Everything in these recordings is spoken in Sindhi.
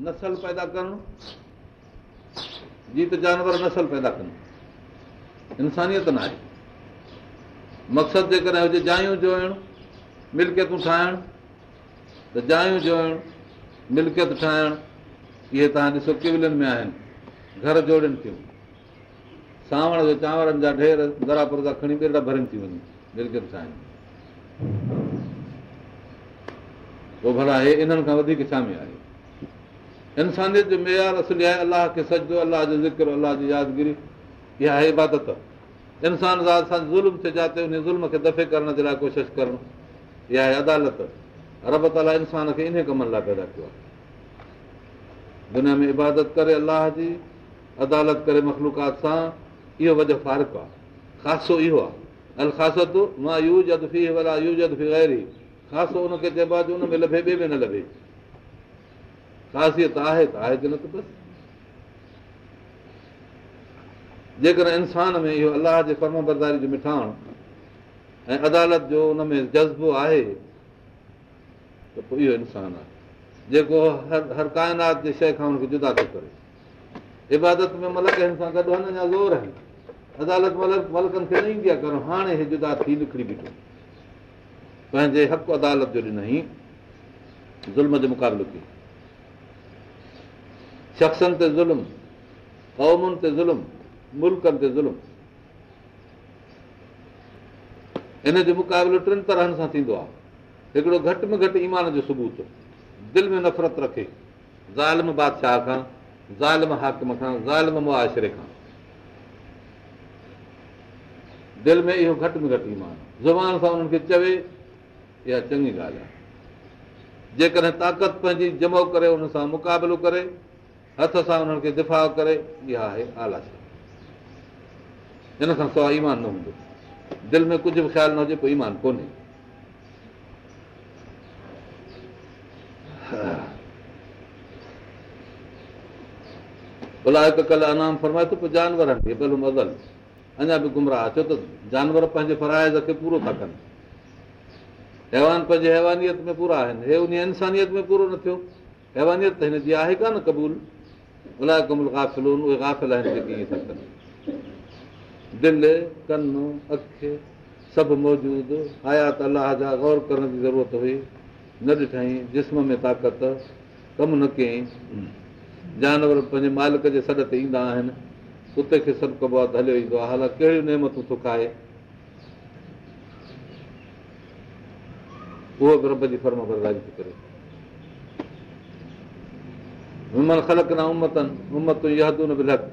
نسل پيدا ڪرڻ، جيت جانور نسل پيدا ڪن، انسانيت نه آهي. مقصد جيڪڏهن هجي جايون جوڙڻ، ملڪيتون ٺاهڻ، ته جايون جوڙڻ، ملڪيت ٺاهڻ، اهي توهان ڏسو ڪيولين ۾ آهن، گهر جوڙين ٿيون، سانوڻ جو چانورن جا ڍير ذرا پرزا کڻي ٻرڙا ڀرين ٿيون وڃي ملڪيت ٺاهين. پوء ڀلا هي انهن کان وڌيڪ ڇا ۾ آهي؟ انسانيت جو معيار اصل آهي الله کي سجدو، الله جو ذڪر، الله جي يادگيري، اها آهي عبادت. انسان ذات سان ظلم ٿئي جاتي ان ظلم کي دفع ڪرڻ جي لاء ڪوشش ڪرڻ، اها آهي عدالت. رب تعاليٰ انسان کي انهي ڪمن لاء پيدا ڪيو آهي. دنيا ۾ عبادت ڪري الله جي، عدالت ڪري مخلوقات سان، اهو وجه فارق آهي. خاصو اهو آهي، الخاصة ما يوجد فيه ولا يوجد في غيره، خاصو ان کي چئبو آهي جو ان ۾ لڀي ٻئي ۾ نه لڀي. خاصيت آهي ته آهي، نه ته بس. جيڪڏهن انسان ۾ اهو الله جي فرمانبرداري جو مٺاڻ ۽ عدالت جو ان ۾ جذبو آهي ته پوء اهو انسان آهي جيڪو هر ڪائنات جي شيء کان هن کي جدا ٿو ڪري. عبادت ۾ ملڪ هن سان گڏ هن اڃا زور آهن، عدالت ملڪن کي نه ايندي آهي ڪرڻ. هاڻي هي جدا ٿي نڪري بيٺو، پنهنجي حق عدالت جو ڏنائين، ظلم جو مقابلو ڪيو. شخصن تي ظلم، قومن تي ظلم، ملڪن تي ظلم، ان جو مقابلو ٽن طرحن سان ٿيندو آهي. هڪڙو گهٽ ۾ گهٽ ايمان جو ثبوت، دل ۾ نفرت رکي ظالم بادشاهه کان، ظالم حاڪم کان، ظالم معاشري کان، دل ۾ اهو گهٽ ۾ گهٽ ايمان، زبان سان انهن کي چوي، اها چڱي ڳالهه آهي. جيڪڏهن طاقت پنهنجي جمع ڪري انهن سان مقابلو ڪري، هٿ سان انهن کي دفاع ڪري، اها آهي اعليٰ شيء. ان کان سواء ايمان نه هوندو. دل ۾ ڪجهه به خيال نه هجي پوء ايمان ڪونهي. اولئڪ ڪالانعام فرمائي ٿو پوء جانور آهن، بل هم اضل، اڃا به گمراهه، ڇو ته جانور پنهنجي فرائض کي پورو ٿا ڪن، حيوان پنهنجي حيوانيت ۾ پورا آهن، هي انهي انسانيت ۾ پورو نه ٿيو، حيوانيت ته هن جي آهي ڪانه قبول. اولئڪ هم الغافلون، اهي غافل آهن جيڪي ائين ٿا ڪن. دل، ڪن، اک سڀ موجود، آيات الله جا غور ڪرڻ جي ضرورت هئي، نه ڏٺائين، جسم ۾ طاقت، ڪم نه ڪيائين. جانور به پنهنجي مالڪ جي سڏ تي ايندا آهن، ڪتي کي سڏ ڪبو آهي ته هليو ايندو آهي، حالانڪ ڪهڙيون نعمتون ٿو کائي، اهو به رب جي فرمانبرداري ٿو ڪري. ممن خلقنا امة امة يهدون بالحق،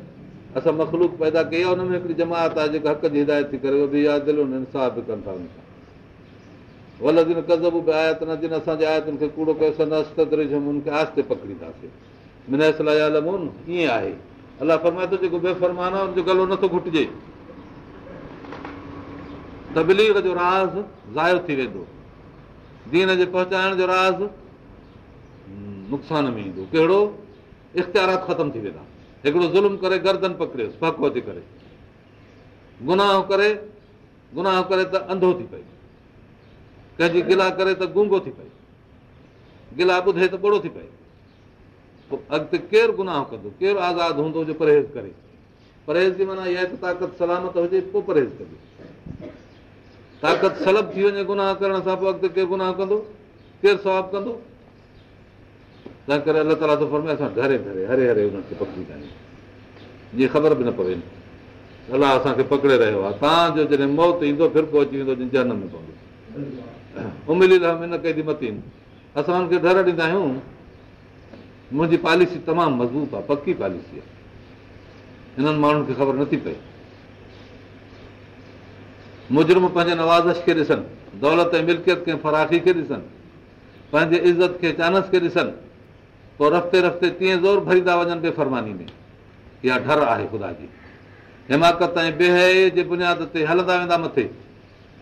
اسان مخلوق پيدا ڪئي آهي ان ۾ هڪڙي جماعت آهي جيڪا حق جي هدايت ٿي ڪري، وبه يعدلون، انصاف به ڪن ٿا ان سان. والذين ڪذبوا بآياتنا، جن اسان جي آيتن کي ڪوڙو ڪيو، سنستدرجهم، ان کي آهستي پڪڙينداسين، من حيث لا يعلمون، ائين آهي. الله فرمائي ٿو جيڪو بي فرمان آهي ان جو گلو نٿو گهٽجي، تبليغ جو راز ضايع ٿي ويندو، دين جي پهچائڻ جو راز نقصان ۾ ايندو. ڪهڙو؟ اختيارات ختم ٿي ويندا. هڪڙو ظلم ڪري گردن پڪڙيس ڦڪو ٿي ڪري، گناهه ڪري، گناهه ڪري ته انڌو ٿي پئي، ڪنهن جي گلا ڪري ته گونگو ٿي پئي، گلا ٻڌي ته ٻوڙو ٿي پئي. پوء اڳتي ڪير گناهه ڪندو؟ ڪير آزاد هوندو جو پرهيز ڪري؟ پرهيز جي معنيٰ اها آهي ته طاقت سلامت هجي پوء پرهيز ڪجي. طاقت سلب ٿي وڃي گناهه ڪرڻ سان پوء اڳتي ڪير گناهه ڪندو؟ ڪير ثواب ڪندو؟ تنهن ڪري الله تعاليٰ ٿو فرمائي اسان ڍري ڍري هري هري انهن کي پڪڙيندا آهيون جيئن خبر به نه پوي الله اسان کي پڪڙي رهيو آهي، تان جو جڏهن موت ايندو ڦرڪو اچي ويندو جن جهنم ۾ پوندو. واملي لهم ان ڪيدي متين، اسان انهن کي ڍر ڏيندا آهيون، منهنجي پاليسي تمام مضبوط آهي، پڪي پاليسي آهي. انهن ماڻهن کي خبر نٿي پئي. مجرم پنهنجي نوازش کي ڏسن، دولت ۽ ملڪيت کي فراخي کي ڏسن، پنهنجي عزت کي چانس کي ڏسن، پوء رفتي رفتي تيئن زور ڀريندا وڃن بي فرماني ۾. اها ڍر آهي خدا جي. حماقت ۽ بي حيائيء جي بنياد تي هلندا ويندا مٿي.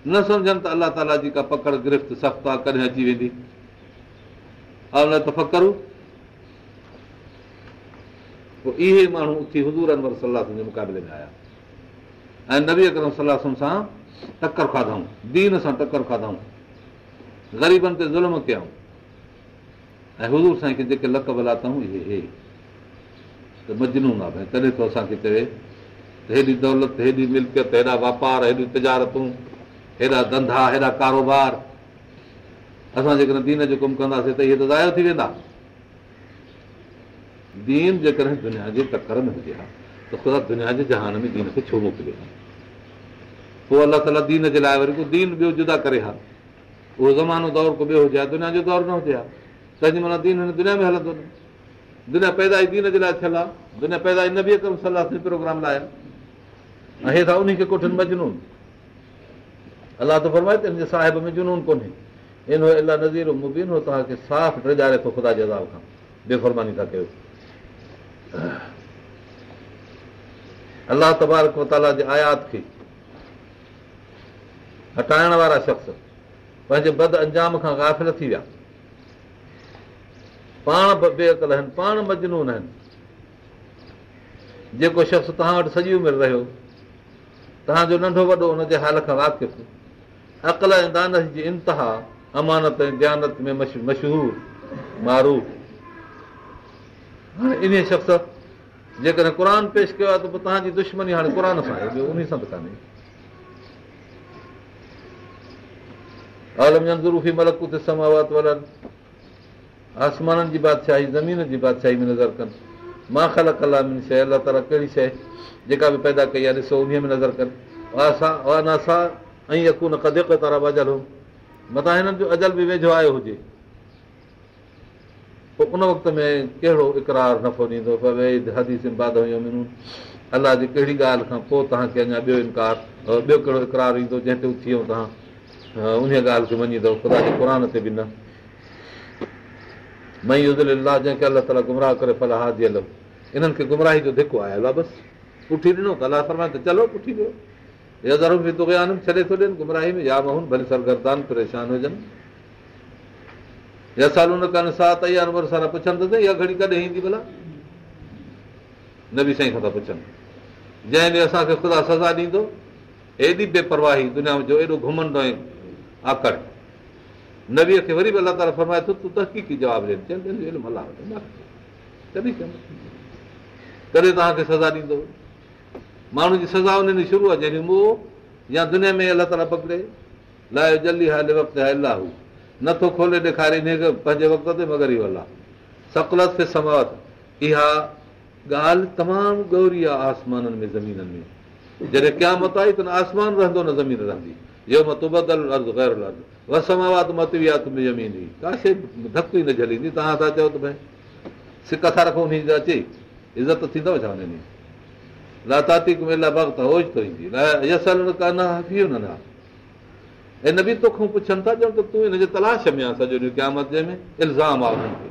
نه سمجهن ته الله تعاليٰ جي ڪا پڪڙ گرفت سخت آهي ڪڏهن اچي ويندي. اولم يتفڪروا. پوء اهي ماڻهو اٿي حضور انور صلي الله عليه وسلم جي مقابلي ۾ آيا ۽ نبي اڪرم صلي الله عليه وسلم سان ٽڪر کاڌائون، دين سان ٽڪر کاڌائون، غريبن تي ظلم ڪيائون. ۽ حضور سائين کي جيڪي لقب لاتائون اهي هي ته مجنون آهي ڀئي تڏهن ٿو اسان کي چوي ته هيڏي دولت، هيڏي ملڪيت، هيڏا واپار، هيڏيون تجارتون، هيڏا ڌنڌا، هيڏا ڪاروبار، اسان جيڪڏهن دين جو ڪم ڪنداسين ته اهي ته ضايع ٿي ويندا. دين جيڪڏهن دنيا جي ٽڪر ۾ هجي ها ته خدا دنيا جي جهان ۾ دين کي ڇو موڪلي ها؟ پوء الله تعاليٰ دين جي لاء وري ڪو دين ٻيو جدا ڪري ها، اهو زمانو دور ڪو ٻيو هجي ها، دنيا جو دور نه هجي ها. تنهن جي معنيٰ دين هن دنيا ۾ هلندو نه. دنيا پيدا ئي دين جي لاء ٿيل آهي، دنيا پيدا ئي نبي اڪرم صلي الله عليه وسلم پروگرام لاء آهي ۽ هي ٿا انهي کي ڪوٺين مجنون. الله ٿو فرمائي ته ان جي صاحب ۾ جنون ڪونهي. ان هو الا نذير مبين، هو توهان کي صاف ڊيڄاري ٿو خدا جي عذاب کان، بي فرماني ٿا ڪيو. الله تبارڪ وتعاليٰ جي آيات کي هٽائڻ وارا شخص پنهنجي بد انجام کان غافل ٿي ويا. پاڻ به بي عقل آهن، پاڻ مجنون آهن. جيڪو شخص توهان وٽ سڄي عمر رهيو، توهان جو ننڍو وڏو ان جي حال کان واقف، عقل ۽ دانش جي انتها، امانت ۽ ديانت ۾ مشهور معروف. هاڻي انهيء شخص جيڪڏهن قرآن پيش ڪيو آهي ته پوء توهان جي دشمني هاڻي قرآن سان آهي، ٻيو انهي سان ته ڪانهي. اولم ينظروا في ملڪوت السماوات والارض، آسمانن جي بادشاهي زمين جي بادشاهي ۾ نظر ڪن. ما خلق الله من شيء، الله تعاليٰ ڪهڙي شيء جيڪا به پيدا ڪئي آهي ڏسو انهيء ۾ نظر ڪن. وان عسيٰ ان يڪون قد اقترب اجلهم، متان هنن جو اجل به ويجهو آيو هجي، پوء ان وقت ۾ ڪهڙو اقرار نفعو ڏيندو؟ فباي حديث بعده يؤمنون، الله جي ڪهڙي ڳالهه کان پوء توهان کي اڃا ٻيو انڪار ٻيو ڪهڙو اقرار ايندو جنهن تي اٿي ۽ توهان انهيء ڳالهه کي مڃيندؤ، خدا جي قرآن تي به نه. من يضلل الله، جنهن کي الله تعاليٰ گمراهه ڪري، فلا هادي له، انهن کي گمراهي جو ڌڪو آيل آهي، بس پٺي ڏنو ته الله فرمائي ته چلو پٺي ڏيو. يذرهم في طغيانهم، ڇڏي ٿو ڏين گمراهي ۾، يعمهون، ڀلي سرگردان پريشان هجن. يسالونڪ عن الساعة ايان مرساها، پڇن ته اها گهڙي ڪڏهن ايندي ڀلا؟ نبي سائين کان ٿا پڇن، جنهن ڏينهن اسان کي خدا سزا ڏيندو. ايڏي بي پرواهي دنيا جو ايڏو گهمنڊ ۽ آڪڙ. نبيء کي وري به الله تعاليٰ فرمائي ٿو تون تحقيقي جواب ڏي، چين ته ان جو علم الله وٽ آهي، ڪڏهن ڪڏهن توهان کي سزا ڏيندو. ماڻهو جي سزا ان ڏينهن شروع آهي جنهن ڏينهن مئو يا دنيا ۾ الله تعاليٰ پڪڙي. لا يجليها لوقتها الا هو، نٿو کولي ڏيکاري انهيء کي پنهنجي وقت تي مگر اهو الله. ثقلت في السماوات، اها ڳالهه تمام ڳوري آهي آسمانن ۾ زمينن ۾، جڏهن قيامت آئي ته نه آسمان رهندو نه زمين رهندي. يوم تبدل الارض غير الارض والسماوات مطويات بيمينه، ڪا شيء ڌڪ ئي نه جهليندي. توهان ٿا چئو ته ڀئي سڪ ٿا رکو انهي جي اچي عزت ٿيندو ڇا انهي ڏينهن؟ لا تاتيڪم الا بغته، اوچتو ايندي. يسالونڪ ڪانڪ حفي عنها، اي نبي توکان پڇن ٿا ڄڻ ته تون ان جي تلاش ۾ آن سڄو ڏينهن قيامت جي ۾ الزام آ انهن کي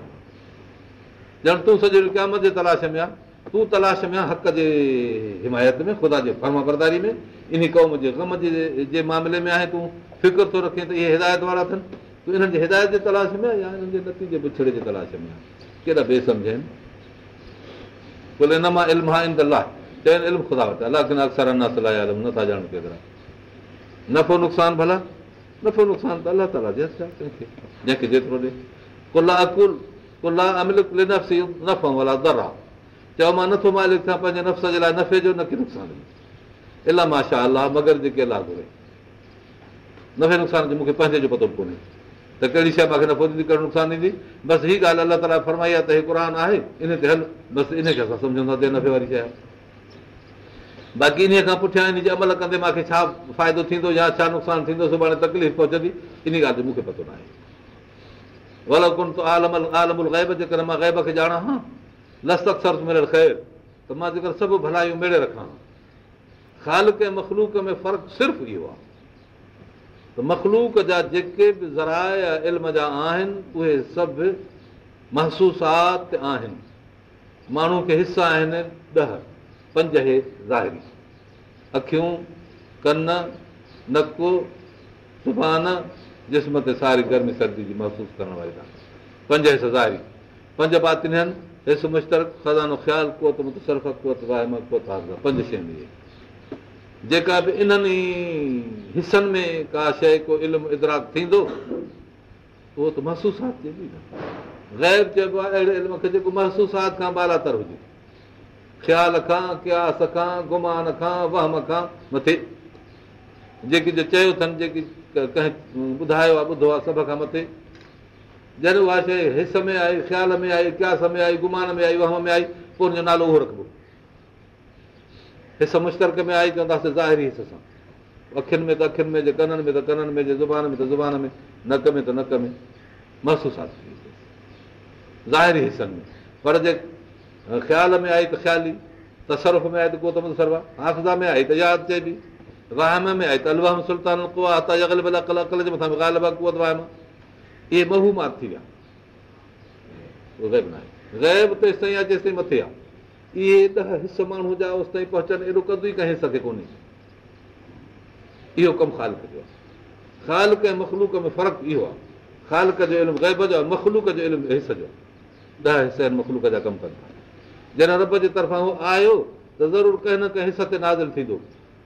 ڄڻ تون سڄو ڏينهن قيامت جي تلاش ۾ آن، تون تلاش ۾ آن حق جي حمايت ۾ خدا جي فرمانبرداري ۾ انهي قوم جي غم جي معاملي ۾ آهين، تون فڪر ٿو رکين ته اهي هدايت وارا اٿن، تون انهن جي هدايت جي تلاش ۾ آن يا انهن جي نتيجي بڇڙي جي تلاش ۾ آن؟ ڪيڏا بي سمجهه آهن. قل انما علمها عند الله، چئن علم خدا وٽ آهي، ولڪن اڪثر الناس لا يعلمون، نٿا ڄاڻن ڪيترا. نفعو نقصان ڀلا نفعو نقصان ته الله تعاليٰ جي هٿ آهي، ڪنهن کي جنهن کي جيترو ڏي. قل لا اقول قل لا املڪ لنفسي نفعا ولا ضرا، چؤ مان نٿو مالڪ ٿيان پنهنجي نفس جي لاء نفعي جو نه ڪي نقصان جو، الا ما شاء الله، مگر جيڪي الله گهري. نفعي نقصان جو مون کي پنهنجي جو پتو به ڪونهي ته ڪهڙي شيء مون کي نفعو ڏيندي ڪهڙو نقصان ڏيندي. بس هي ڳالهه الله تعاليٰ فرمائي آهي ته هي قرآن آهي ان تي هل، بس ان کي اسان سمجهون ٿا ته نفعي واري شيء آهي. باقي انهيء کان پٺيان ان جي عمل ڪندي مان کي ڇا فائدو ٿيندو يا ڇا نقصان ٿيندو، سڀاڻي تڪليف پهچندي، انهي ڳالهه جو مون کي پتو ناهي. ولو ڪنت اعلم الغيب، جيڪڏهن مان غيب کي ڄاڻان ها، لاستڪثرت من الخير، ته مان جيڪر سڀ ڀلايون ميڙي رکان ها. خالق ۽ مخلوق ۾ فرق صرف اهو آهي ته مخلوق جا جيڪي به ذرائع علم جا آهن اهي سڀ محسوسات آهن. ماڻهو کي حس آهن ڏهه، پنج هي ظاهري، اکيون، ڪن، نڪ، زبان، جسم تي ساري گرمي سردي جي محسوس ڪرڻ واري طاقت، پنج حس ظاهري، پنج باطني آهن، حس مشترڪ، خزانو خيال، قوت متصرفه، قوت واهمه، قوت حافظه، پنج شيون اهي. جيڪا به انهن ئي حسن ۾ ڪا شيء ڪو علم ادراڪ ٿيندو اهو ته محسوسات چئبي نه. غيب چئبو آهي اهڙي علم کي جيڪو محسوسات کان بالاتر هجي، خيال کان، قياس کان، گمان کان، وهم کان مٿي. جيڪي جو چيو اٿن، جيڪي ڪنهن ٻڌايو آهي، ٻڌو آهي، سڀ کان مٿي. جڏهن اها شيء حس ۾ آئي، خيال ۾ آئي، قياس ۾ آئي، گمان ۾ آئي، وهم ۾ آئي، پوء ان جو نالو اهو رکبو. حس مشترڪ ۾ آئي چونداسين ظاهري حس سان، اکين ۾ ته اکين ۾، جي ڪنن ۾ ته ڪنن ۾، جي زبان ۾ ته زبان ۾، نڪ ۾ ته نڪ ۾، محسوسات ظاهري حصن ۾. پر جي خيال ۾ آئي ته خيالي، تصرف ۾ آئي ته قوت متصرفه، حافظه ۾ آئي ته ياد چئبي، وهم ۾ آئي ته الوهم سلطان القويٰ حتيٰ يغلب العقل، عقل جي مٿان به غالب آهي قوت وهم. اهي موهومات ٿي ويا، غيب ناهي. غيب تيستائين آهي جيستائين مٿي آهي. اهي 10 حس ماڻهو جا اوستائين پهچن، ايڏو قد ئي ڪنهن حس کي ڪونهي. اهو ڪم خالق جو آهي. خالق ۽ مخلوق ۾ فرق اهو آهي، خالق جو علم غيب جو آهي، مخلوق جو علم حس جو آهي. 10 حس آهن مخلوق جا ڪم ڪن ٿا. جڏهن رب جي طرفان هو آيو ته ضرور ڪنهن نه ڪنهن حس تي نازل ٿيندو.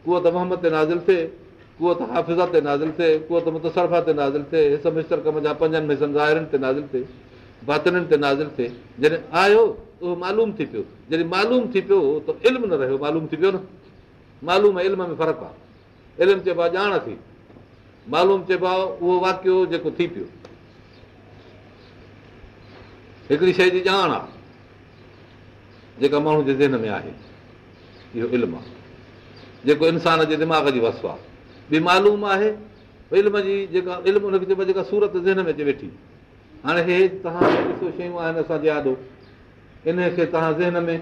قوت وهم تي نازل ٿئي، قوت حافظه تي نازل ٿئي، قوت متصرفه تي نازل ٿئي، حس مشترڪ منجهان پنجن حصن ظاهرن تي نازل ٿئي، باطنن تي نازل ٿئي. جڏهن آيو ته اهو معلوم ٿي پيو. جڏهن معلوم ٿي پيو ته علم نه رهيو، معلوم ٿي پيو نه. معلوم ۽ علم ۾ فرق آهي. علم چئبو آهي ڄاڻ کي، معلوم چئبو آهي اهو واقعو جيڪو ٿي پيو. هڪڙي شيء جي ڄاڻ آهي جيڪا ماڻهو جي ذهن ۾ آهي، اهو علم آهي جيڪو انسان جي دماغ جي وصف آهي. ٻي معلوم آهي علم جي، جيڪا علم ان کي چئبو آهي جيڪا صورت ذهن ۾ اچي ويٺي. هاڻي هي توهان ڏسو شيون آهن اسان جي آڏو، انهي کي توهان ذهن ۾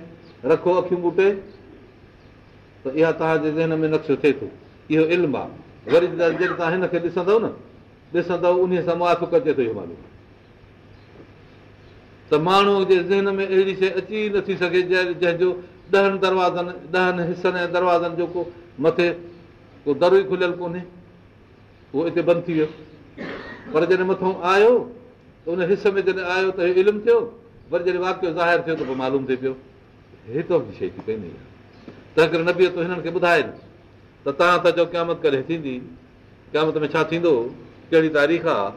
رکو اکيون ٻوٽي ته اها توهان جي ذهن ۾ نقشو ٿئي ٿو، اهو علم آهي. وري جڏهن توهان هن کي ڏسندؤ نه، ڏسندؤ انهي سان موافق اچي ٿو اهو معلوم ته ماڻهوء جي ذهن ۾ اهڙي شيء اچي ئي نٿي سگهي جنهن جو 10 دروازن، 10 حصن ۽ دروازن جو ڪو مٿي ڪو در ئي کليل ڪونهي، اهو اتي بند ٿي ويو. پر جڏهن مٿئون آيو ته ان حس ۾ جڏهن آيو ته اهو علم ٿيو، وري جڏهن واقعو ظاهر ٿيو ته پوء معلوم ٿي پيو هتان جي شيء ٿي پئي نه. تنهن ڪري نبي ته هنن کي ٻڌائي ته توهان ٿا چئو قيامت ڪڏهن ٿيندي، قيامت ۾ ڇا ٿيندو، ڪهڙي تاريخ آ؟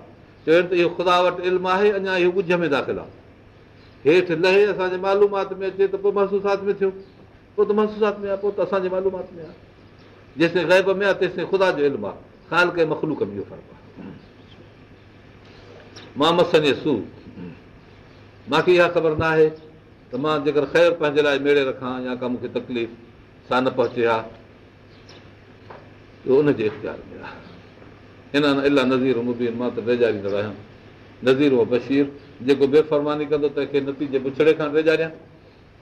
چون ته اهو خدا وٽ علم آهي، اڃا اهو ڳجهه ۾ داخل آ، هيٺ لهي اسان جي معلومات ۾ اچي ته پوء محسوسات ۾ ٿيو، پوء ته محسوسات ۾ آ، پوء ته اسان جي معلومات ۾ آ. جيستائين غيب ۾ آ تيستائين خدا جو علم آ. خالق ۽ مخلوق ۾ اهو فرق آ. ما مسني السوء، مان کي اها خبر نه آهي ته مان جيڪر خير پنهنجي لاء ميڙي رکان يا ڪا مون کي تڪليف سا نه پهچي ها، اهو ان جي اختيار ۾ آهي. ان انا الا نذير مبين، مان ته ڊيڄاريندڙ آهيان. نذير و بشير، جيڪو بي فرماني ڪندو تنهن کي نتيجي بڇڙي کان ڊيڄاريان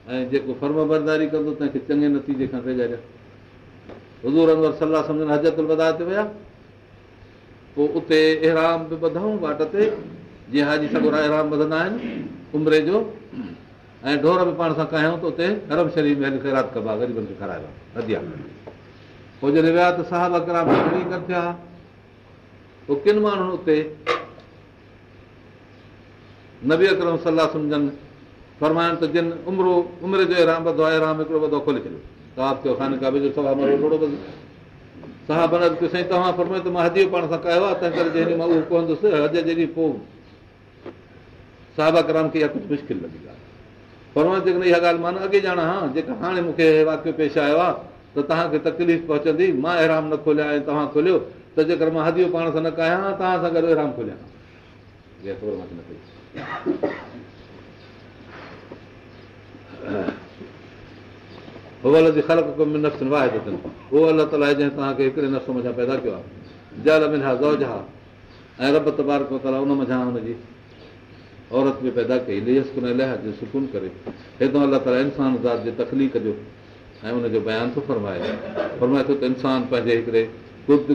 ۽ جيڪو فرمانبرداري ڪندو تنهن کي چڱي نتيجي کان ڊيڄاريان. حضور انور صلي الله عليه وسلم حجة الوداع تي ويا، پوء اتي احرام به ٻڌائون واٽ تي، جيئن حاجي سڳورا احرام ٻڌندا آهن عمري جو، ۽ ڍور به پاڻ سان ڪاهيائون ته اتي حرم شريف ۾ هلي خيرات ڪبا، غريبن کي کارائبا هديا. پوء جڏهن ويا ته صحابه ڪرام گهڻي گڏ ٿيا. پوء ڪن ماڻهن اتي نبي اڪرم صلي الله عليه وسلم جن فرمائن ته جن عمري جو احرام ٻڌو آهي، احرام هڪڙو ٻڌو کولي ڇڏيو، طواف ڪيو خانه ڪعبي جو، صفا مروه لوڙو ٻڌو. صحابن عرض ڪيو سائين توهان فرمايو ته مان هديو پاڻ سان ڪاهيو آهي، تنهن ڪري جنهن ڏينهن مان اهو ڪهندس حج جي ڏينهن پوء صحابه ڪرام کي اها ڪجهه مشڪل لڳي ڳالهه. فرمايو جيڪڏهن اها ڳالهه مان اڳي ڄاڻان ها جيڪا هاڻي مون کي هي واقعو پيش آيو آهي ته توهان کي تڪليف پهچندي، مان احرام نه کوليان ۽ توهان کوليو ته جيڪر مان هديو پاڻ سان نه ڪاهيان ها توهان سان گڏ احرام کوليان ها. اها خبر مان کي نه پئي. هو الذي خلقڪم من نفس واحدة، اهو الله تعاليٰ آهي جنهن توهان کي هڪڙي نفس منجهان پيدا ڪيو آهي. جعل منها زوجها، ۽ رب تبارڪ وتعاليٰ ان منجهان هن جي عورت به پيدا ڪئي، ليسڪن اليها، جو سڪون ڪري. هتان الله تعاليٰ انسان ذات جي تخليق جو ۽ ان جو بيان ٿو فرمائي. فرمائي ٿو ته انسان پنهنجي هڪڙي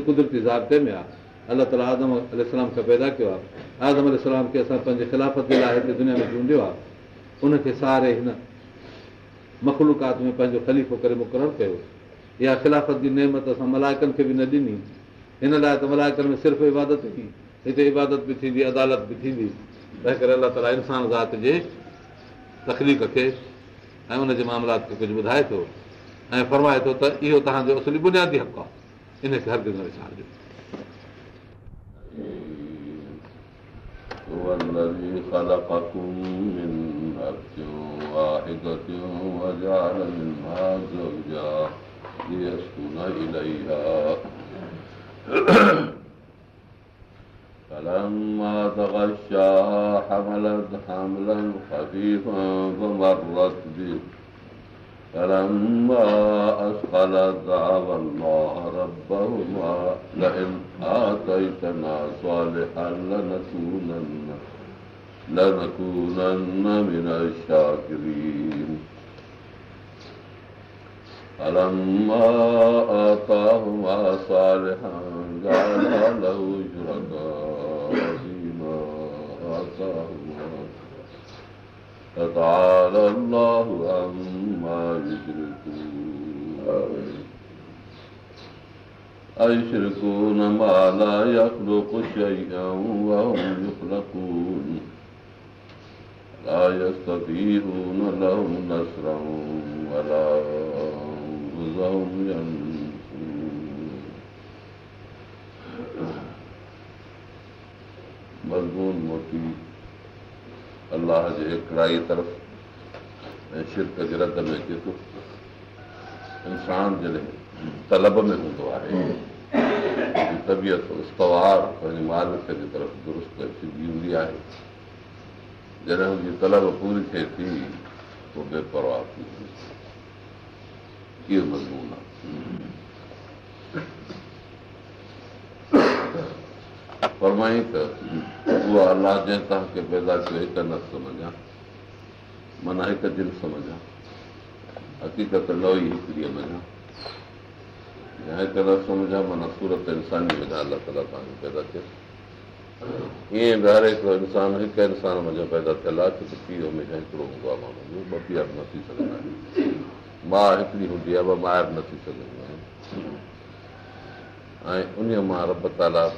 قدرتي ضابطي ۾ آهي. الله تعاليٰ آدم عليه السلام کي پيدا ڪيو آهي. آدم عليه السلام کي اسان پنهنجي خلافت جي لاء هتي دنيا ۾ چونڊيو آهي. ان کي ساري هن مخلوقات ۾ پنهنجو خليفو ڪري مقرر ڪيو. اها خلافت جي نعمت اسان ملائڪن کي به نه ڏني. هن لاء ته ملائڪن ۾ صرف عبادت هئي، هتي عبادت به ٿيندي، عدالت به ٿيندي. تنهن ڪري الله تعاليٰ انسان ذات جي تخليق کي ۽ ان جي معاملات کي ڪجهه ٻڌائي ٿو ۽ فرمائي ٿو ته اهو توهان جو اصلي بنيادي حق آهي، ان کي هرگز نه وسارجو. هو الذي خلقكم من نفس واحدة وجعل منها زوجها ليسكن إليها فلما تغشاها حملت حملا خفيفا فمرت به فلما أثقلت دعوا الله ربهما لئن آتيتنا صالحا لنكونن من الشاكرين فلما آتاهما صالحا جعلا له شركاء فيما آتاهما فتعالى الله عما يشركون أيشركون ما لا يخلق شيئا وهم يخلقون لا يستطيعون لهم نصرا ولا أنفسهم ينصرون. مضمون موٽي الله جي هڪڙائي طرف ۽ شرڪ جي رد ۾ اچي ٿو. انسان جڏهن طلب ۾ هوندو آهي، طبيعت استوار پنهنجي مالڪ جي طرف درست ۽ سڌي هوندي آهي. جڏهن هن جي طلب پوري ٿئي ٿي پوءِ بي پرواهه ٿي وڃي ٿو. اهو مضمون آهي. فرمائي ته اها الله جنهن توهان کي پيدا ڪيو هڪ نفس منجهان، معنيٰ هڪ جنس منجهان، حقيقت نوعي هڪڙيءَ منجهان، يا هڪ نفس منجهان معنيٰ صورت انساني منجهان الله تعاليٰ توهان کي پيدا ڪيو. ائين به هر هڪڙو انسان هڪ انسان منجهان پيدا ٿيل آهي، ڇو ته پيءُ هميشه هڪڙو هوندو آهي ماڻهو جو، ٻه پيئر نه ٿي سگهندا آهن. ماءُ هڪڙي هوندي آهي، ٻه مائر نه ٿي سگهنديون آهن. ۽ ان مان رب تعاليٰ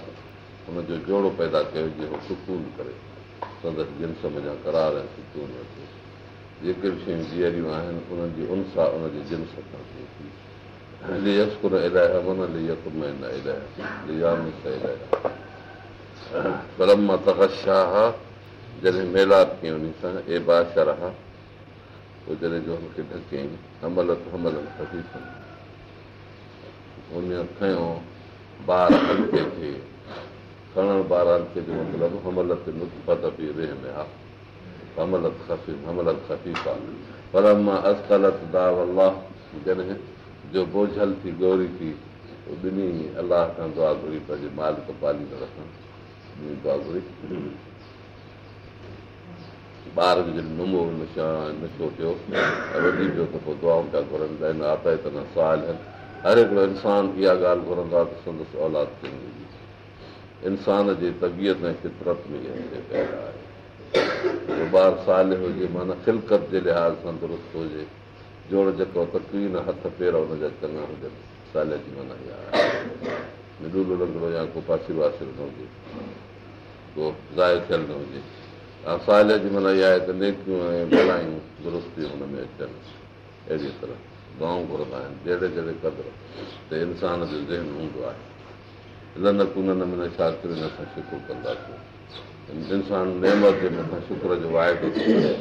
هن جو جوڙو پيدا ڪيو جيڪو سڪون ڪري، سندس جنس منجهان قرار ۽ سڪون وٺي. جيڪي به شيون جيئريون آهن انهن جي انسا ان جي جنس کان ٿئي ٿي. ليسڪن اليها معنيٰ ليطمئن اليها ليانس اليها. فلما تغشاها جڏهن ميلاپ ڪيائين ان سان، اي باشرها، پوءِ جڏهن جو هن کي ڍڪيائين، حملت حملا خفيفا، ان کنيو بار هلڪي کي. کڻڻ بار هلڪي جو مطلب حملت نطفة في رحمها، حملت خفيف، حملت خفيفا. فلما اثقلت دعوا الله، جڏهن جو بوجهل ٿي ڳوري ٿي، ٻنهي الله کان دعا گهري، پنهنجي مالڪ پاليندڙ کان ٻنهي دعا گهري. ٻار جو جڏهن نمو نشو ٿيو ۽ وڌي پيو ته پوءِ دعائون پيا گهرن ته آتيتنا صالحا. هر هڪڙو انسان اها ڳالهه گهرندو آهي ته سندس اولاد چڱي هجي. انسان جي طبيعت ۽ فطرت ۾ اها شيءِ پيدا آهي. ٻار صالح هجي معنيٰ خلقت جي لحاظ سان درست هجي، جوڙ جيڪو تڪوين هٿ پير هن جا چڱا هجن. صالح جي معنيٰ اها آهي لولو لنگڙو يا ڪو پاسيرو واسيرو نه هجي، ڪو ضايع ٿيل نه هجي. صالح جي معنيٰ اها آهي ته نيڪيون ۽ ڀلايون درستيون هن ۾ اچن. اهڙيءَ طرح دعائون گهرندا آهن جهڙي جهڙي قدر ته انسان جو ذهن هوندو آهي. لنڪونن من الشاڪرين، اسان شڪر ڪنداسين. انسان نعمت جي مٿان شڪر جو واعدو ٿو ڪري.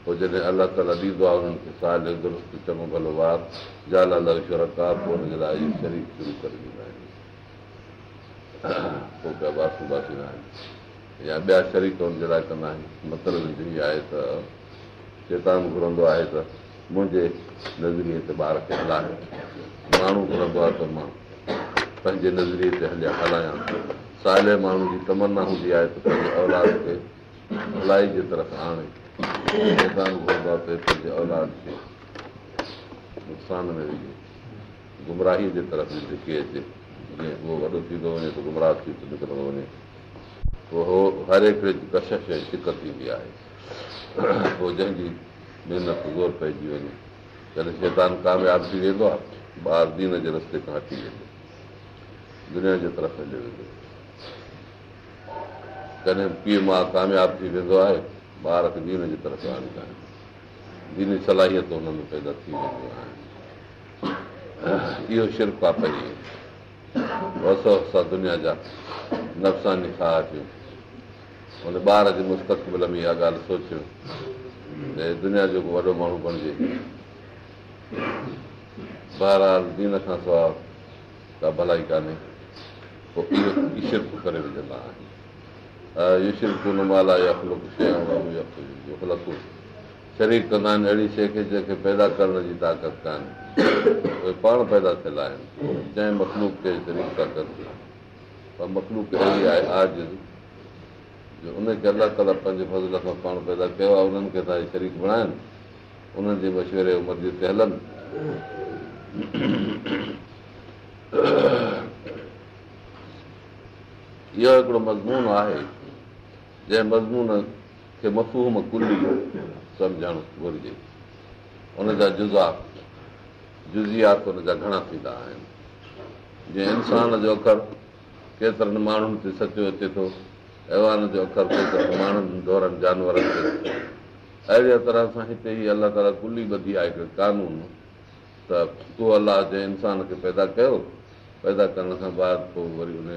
پوءِ جڏهن الله تعاليٰ ڏيندو آهي انهن کي صالح درست چڱو ڀلو ٻار، جعل له شرڪاء، پوءِ هن جي لاءِ اهي شريڪ شروع ڪري ڏيندا آهن. پوءِ پيا باسون باسيندا آهن يا ٻيا شريڪ هن جي لاءِ ڪندا آهن. مطلب اهو آهي ته شيطان گهرندو آهي ته منهنجي نظريي تي ٻار کي هلائي، ماڻهو گهرندو آهي ته مان پنهنجي نظريي تي هلايان. صالح ماڻهو جي تمنا هوندي آهي ته پنهنجي اولاد کي ڀلائي جي طرف آڻي. شيطان گهرندو آهي ته پنهنجي اولاد کي نقصان ۾ وجهي، گمراهيءَ جي طرف ڌڪي اچي. جيئن اهو وڏو ٿيندو وڃي ته گمراهه ٿي ٿو نڪرندو وڃي. پوءِ هو هر هڪڙي جي ڪشش ۽ ڇڪ ٿيندي آهي. پوءِ جنهن جي محنت زور پئجي وڃي، جڏهن شيطان ڪامياب ٿي ويندو آهي، ٻار دين جي رستي کان هٽي ويندو، دنيا جي طرف هليو ويندو. ڪڏهن پيءُ ماءُ ڪامياب ٿي ويندو آهي، ٻار کي دين جي طرف آڻيندا آهن، ديني صلاحيت هن ۾ پيدا ٿي وينديون آهن. اهو شرڪ آهي. پهرين وسوسا دنيا جا نفساني خواهشون ان ٻار جي مستقبل ۾ اها ڳالهه سوچيو ته دنيا جو ڪو وڏو ماڻهو بڻجي. بهرحال دين کان سواء ڪا ڀلائي ڪانهي، پوء اهو ئي شرڪ ڪري وجهندا آهن. يشرڪون ما لا يخلق شيئا وهم يخلقون، شريڪ ڪندا آهن اهڙي شيء کي جنهن کي پيدا ڪرڻ جي طاقت ڪانهي، اهي پاڻ پيدا ٿيل آهن، جنهن مخلوق کي شريڪ ٿا ڪن، پر مخلوق اهڙي آهي عاجز جو ان کي الله تعاليٰ پنهنجي فضل سان پاڻ پيدا ڪيو آهي، انهن کي ٿا شريڪ بڻائن، انهن جي مشوري ۽ مرضي تي هلن. اهو هڪڙو مضمون آهي جنهن مضمون کي مفهوم ڪلي سمجهڻ گهرجي. ان جا جزا جزيات ان جا گهڻا ٿيندا آهن. جيئن انسان جو اکر ڪيترن ماڻهن تي سچو اچي ٿو، حيوان جو اکر ڪيترن ماڻهن، ڍورن، جانورن تي. اهڙيء طرح سان هتي هي الله تعاليٰ ڪلي ٻڌي آهي هڪڙي قانون ته اهو الله جنهن انسان کي پيدا ڪيو، پيدا ڪرڻ کان بعد پوء وري ان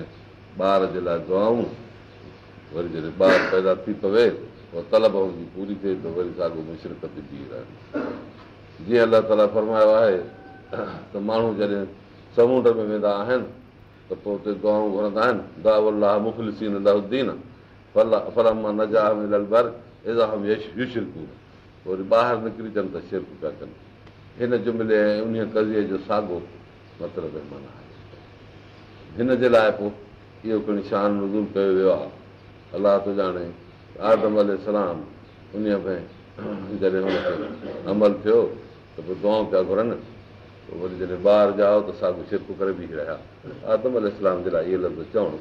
ٻار جي لاء دعائون، وري جڏهن ٻار پيدا ٿي پوي پوء طلب هن جي پوري ٿئي ته وري ساڳو مشرڪ تي بيهي رهن. جيئن الله تعاليٰ فرمايو آهي ته ماڻهو جڏهن سمونڊ ۾ ويندا آهن ته پوء اتي دعائون گهرندا آهن، دعوا الله مخلصين له الدين فلما نجاهم الي البر اذا هم يشرڪون، پوء وري ٻاهر نڪري اچن ته شرڪ پيا ڪن. هن جملي ۽ انهيء قضيي جو ساڳو مطلب ۽ معنيٰ آهي. هن جي لاء پوء اهو کڻي شان نزول ڪيو ويو آهي. الله ٿو ڄاڻي ته آدم عليه السلام انهيء ۾ جڏهن هن کي حمل ٿيو ته پوء دعائون پيا گهرن، پوء وري جڏهن ٻار ڄائو ته ساڳو شرڪ ڪري بيهي رهيا. آدم عليه السلام جي لاء اهي لفظ چوڻ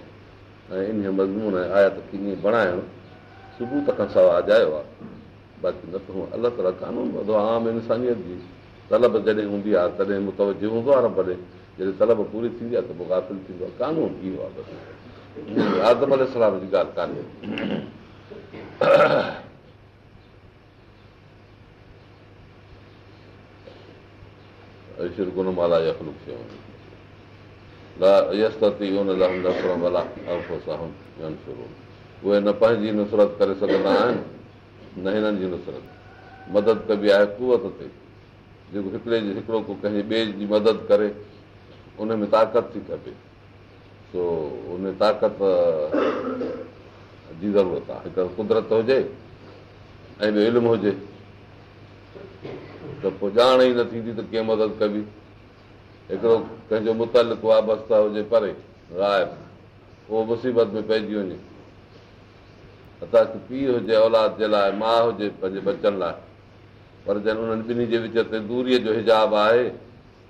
۽ انهيء مضمون ۽ آيت کي ائين بڻائڻ ثبوت کان سواء اجايو آهي. باقي نه ته هونء الله تعاليٰ قانون ٻڌو آهي، عام انسانيت جي طلب جڏهن هوندي آهي تڏهن متوجه هوندو آهي رب ڏي، جڏهن طلب پوري ٿيندي آهي ته پوء غافل ٿيندو آهي. قانون اهو آهي بس، آدم عليه السلام جي ڳالهه ڪانهي. يشرڪون ما لا يخلق شيئا لا يستطيعون لهم نصرا ولا انفسهم ينصرون، اهي نه پنهنجي نصرت ڪري سگهندا آهن نه هنن جي نصرت. مدد ڪبي آهي قوت تي، جيڪو هڪڙي جي هڪڙو ڪو ڪنهن ٻئي جي مدد ڪري ان ۾ طاقت ٿي کپي، سو ان طاقت جي ضرورت آهي. هڪ قدرت هجي ۽ ٻيو علم هجي ته پوء ڄاڻ ئي نه ٿيندي ته ڪيئن مدد ڪبي. هڪڙو ڪنهن جو متعلق وابسته هجي پري غائب، اهو مصيبت ۾ پئجي وڃي، حتيٰ ڪه پيء هجي اولاد جي لاء، ماء هجي پنهنجي ٻچن لاء، پر جڏهن انهن ٻنهي جي وچ تي دوريء جو حجاب آهي،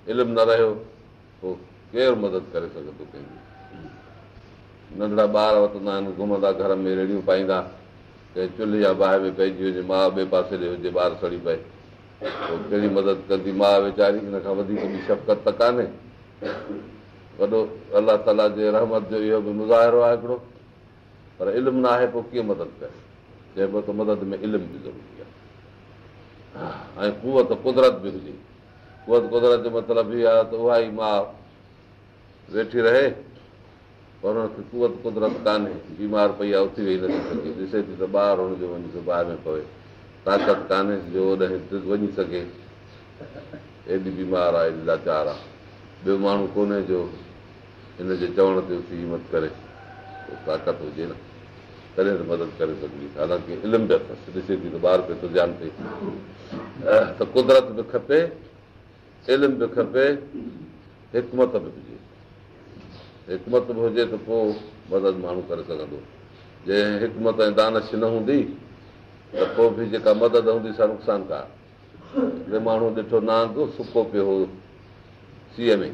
علم نه رهيو، پوء ڪير مدد ڪري سگهندو ڪنهن جي؟ ننڍڙا ٻار وتندا آهن گهمندا گهر ۾ ريڙهيون پائيندا، ڪنهن چلهه يا باهه ۾ پئجي وڃي، ماء ٻئي پاسي ڏي هجي، ٻار سڙي پئي، پوء ڪهڙي مدد ڪندي ماء ويچاري؟ ان کان وڌيڪ ٻي شفقت ته ڪانهي. وڏو الله تعاليٰ جي رحمت جو اهو به مظاهرو آهي هڪڙو، پر علم نه آهي پوء ڪيئن مدد ڪري؟ چئبو ته مدد ۾ علم به ضروري آهي ۽ قوت قدرت به هجي. قوت قدرت جو مطلب هي آهي ته اها ئي ماء ويٺي رهي پر هن کي قوت قدرت ڪانهي، بيمار پئي آهي، اٿي ويهي نٿي سگهي، ڏسي ٿي ته ٻار هن جو وڃي ٿو باهه ۾ پوي، طاقت ڪانهيس جو اوڏانهن وڃي سگهي، ايڏي بيمار آهي، ايڏي لاچار آهي، ٻيو ماڻهو ڪونهي جو هن جي چوڻ تي اٿي همت ڪري، پوء طاقت هجي نه تڏهن ته مدد ڪري سگهبي، حالانڪه علم به اٿس، ڏسي ٿي ته ٻار پيو ٿو زيان ٿئي ته قدرت به کپي، علم به کپي، حڪمت به هجي. حڪمت به هجي ته پوء مدد ماڻهو ڪري سگهندو. جي حڪمت ۽ دانش نه هوندي ته پوء به جيڪا مدد هوندي سا نقصانڪار. هڪڙي ماڻهو ڏٺو نانگ سڪو پيو هو سيء ۾،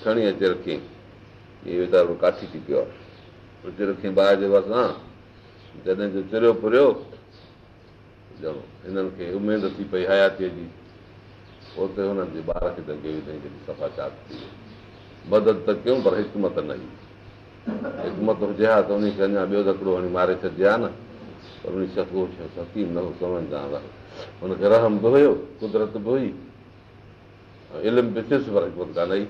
کڻي اچي رکيائين. هي ويچارو ڪاٺي ٿي پيو آهي. اچي رکيائين باهه جي ڀرسان. جڏهن جو چريو پريو ڄڻ هنن کي اميد ٿي پئي حياتيء جي. اتي هنن جي ٻار کي ڏنگي وڌائين جڏهن صفا چاڪ ٿي ويو. مدد ته ڪيون پر حڪمت نه هئي. حڪمت هجي ها ته انهي کي اڃا ٻيو ڌڪڙو هڻي ماري ڇڏجي ها نه. پر انهي شخص اهو شخص حڪيم نه هو، سمجهدار نه هو. هن کي رحم به هيو، قدرت به هئي ۽ علم به ٿيس پر حڪمت ڪانه هئي.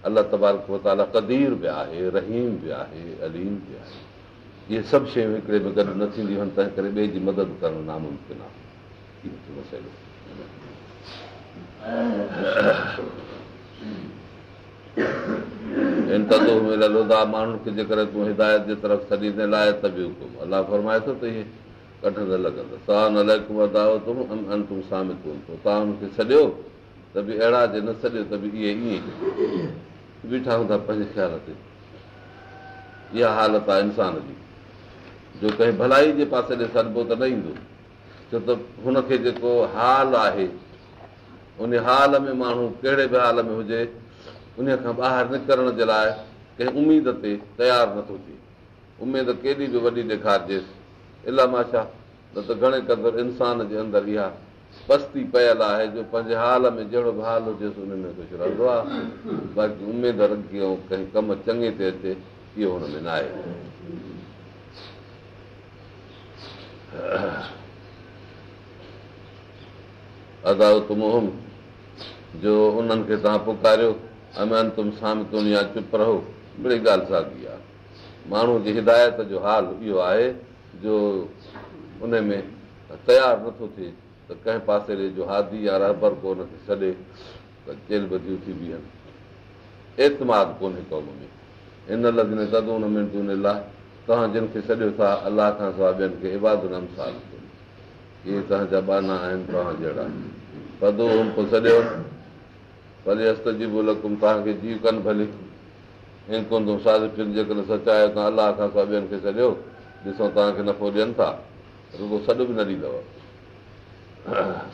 الله تبارڪ وتعاليٰ قدير به آهي، رحيم به آهي، عليم به آهي. اهي سڀ شيون هڪڙي ۾ گڏ نه ٿينديون آهن، تنهن ڪري ٻئي جي مدد ڪرڻ ناممڪن آهي. اهو ٿيو مسئلو. ان تدعوهم الي الهديٰ ماڻهن کي جيڪڏهن تون هدايت جي طرف سڏيندين لا يتبعوڪم الله فرمائي ٿو ته اهي ڪڍ نه لڳندا سواء عليڪم ادعوتموهم ام انتم صامتون پوء توهان انهن کي سڏيو ته به اهڙا جي نه سڏيو ته به اهي ائين ئي بيٺا هوندا پنهنجي خيال تي. اها حالت آهي انسان جي جو ڪنهن ڀلائي جي پاسي ڏي سڏبو ته نه ايندو، ڇو ته هن کي جيڪو حال آهي ان حال ۾ ماڻهو ڪهڙي به حال ۾ هجي ان کان ٻاهر نڪرڻ جي لاء ڪنهن اميد تي تيار نٿو ٿئي. اميد ڪيڏي به وڏي ڏيکارجيس الا ماشاء نه ته گهڻي قدر انسان جي اندر اها پستي پيل آهي جو پنهنجي حال ۾ جهڙو به حال هجيس ان ۾ خوش رهندو آهي، باقي اميد رکي ۽ ڪنهن ڪم چڱي تي اچي اهو هن ۾ ناهي. ادعوتموهم جو انهن کي توهان پڪاريو ام انتم صامتون يا چپ رهو مڙئي ڳالهه ساڳي آهي. ماڻهو جي هدايت جو حال اهو آهي جو ان ۾ تيار نٿو ٿئي ته ڪنهن پاسي ڏي جو هادي يا رهبر ڪو ان کي سڏي ته چيلهه ٻڌي اٿي بيهن. اعتماد ڪونهي قوم ۾. ان الذين تدعون من دون الله توهان جن کي سڏيو ٿا الله کان سواء ٻين کي عباد امثالڪم اهي توهان جا ٻانها آهن توهان جهڙا فادعوهم پوء سڏيو فليستجيبوا لڪم توهان کي جيء ڪن ڀلي ان ڪنتم صادقين جيڪڏهن سچا آهيو توهان الله کان سواء ٻين کي سڏيو ڏسون توهان کي نفعو ڏين ٿا رڳو سڏ به نه ڏيندؤ.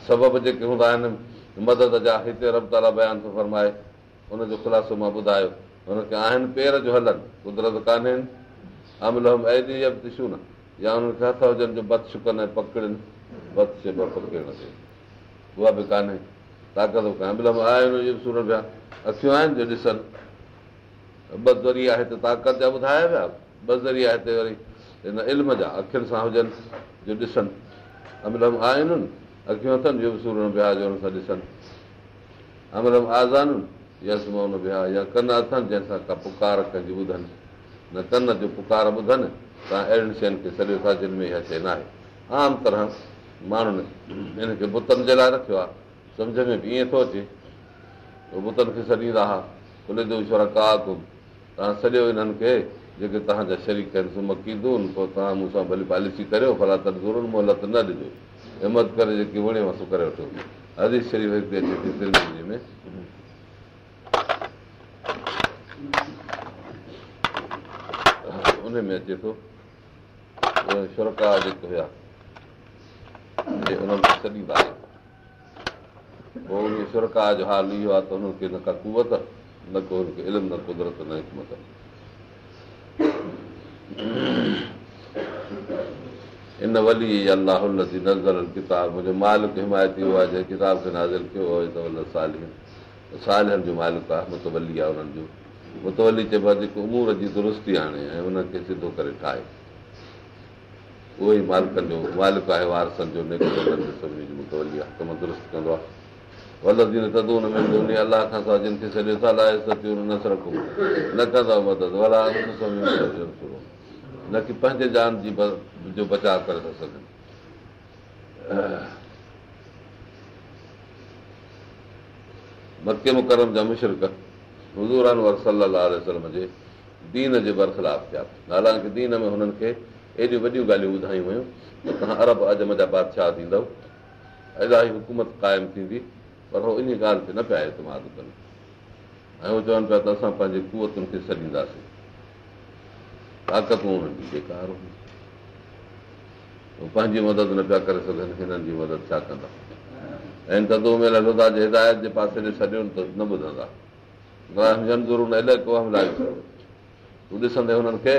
سبب جيڪي هوندا آهن مدد جا هتي رب تعاليٰ بيان ٿو فرمائي ان جو خلاصو مان ٻڌايو هن کي آهن پير جو هلن قدرت ڪانهين ام لهم ايدي يبطشون يا انهن کي هٿ هجن جو بطش ڪن ۽ پڪڙين بطش چئبو آهي پڪڙڻ کي اها به ڪانهي طاقت به ڪانهي ام لهم اعين يبصرون بها اکيون آهن جو ڏسن ٻه ذريعا هتي طاقت جا ٻڌايا ويا، ٻه ذريعا هتي وري هن علم جا، اکين سان هجن جو ڏسن، ام لهم اعين، اکيون اٿن، يبصرون بها جو ان سان ڏسن، ام لهم آذان يسمعون بها يا ڪن اٿن جنهن سان ڪا پڪار ڪنهن جي ٻڌن، نه ڪن جو پڪار ٻڌن، توهان اهڙين شين کي سڏيو ٿا جن ۾ اها شيء ناهي. عام طرح ماڻهن ان کي بتن جي لاء رکيو آهي. سمجهه ۾ به ائين ٿو اچي ته بتن کي سڏيندا ها، قل ادعوا شرڪاءڪم، توهان سڏيو انهن کي جيڪي توهان جا شريڪ آهن، ثم ڪيدون، پوء توهان مون سان ڀلي پاليسي ڪريو، فلا تنظرون، مهلت نه ڏجو، همت ڪري جيڪي وڻيو سو ڪري وٺو. حديث شريف هتي اچي ٿي ترمذي ۾. ان ۾ اچي ٿو شرڪاء جيڪي هيا انهن کي سڏيندا هيا. پوء انهيء شرڪاء جو حال اهو آهي ته انهن کي نه ڪا قوت، نه ڪو هن کي علم، نه قدرت، نه حڪمت. ان وليي الله الذي نزل الڪتاب منهنجو مالڪ حمايتي اهو آهي جنهن ڪتاب کي نازل ڪيو وهو يتولي الصالحين صالحن جو مالڪ آهي متولي آهي انهن جو متولي چئبو آهي جيڪو امور جي درستي آڻي ۽ انهن کي سڌو ڪري ٺاهي اهو ئي مالڪن جو مالڪ آهي، وارثن جو، نيڪ بندن جو، سڀني جو متولي آهي، ڪم درست ڪندو آهي. والذين تدعون من دونه الله کان سواء جن کي سڏيو ٿا لا يستطيعون نصرڪم نه ڪندا مدد ولا انفسهم ينصرون نه ڪي پنهنجي جان جي جو بچاء ڪري ٿا سگهن. مڪي مڪرم جا مشرڪ حضور انور صلي الله عليه وسلم جي دين جي برخلاف ٿيا. حالانڪ دين ۾ هنن کي ايڏيون وڏيون ڳالهيون ٻڌايون ويون ته توهان عرب عجم جا بادشاهه ٿيندؤ، الاهي حڪومت قائم ٿيندي، پر هو انهيء ڳالهه تي نه پيا اعتماد ڪن ۽ هو چون پيا ته اسان پنهنجي قوتن کي سڏينداسين. طاقتون انهن جون بيڪار هيون. هو پنهنجي مدد نه پيا ڪري سگهن، هنن جي مدد ڇا ڪندا؟ ان تدعوهم الي الهديٰ جي هدايت جي پاسي ڏي سڏيو ته نه ٻڌندا. وهم ينظرون اليڪ وهم لا يبصرون تون ڏسندين هنن کي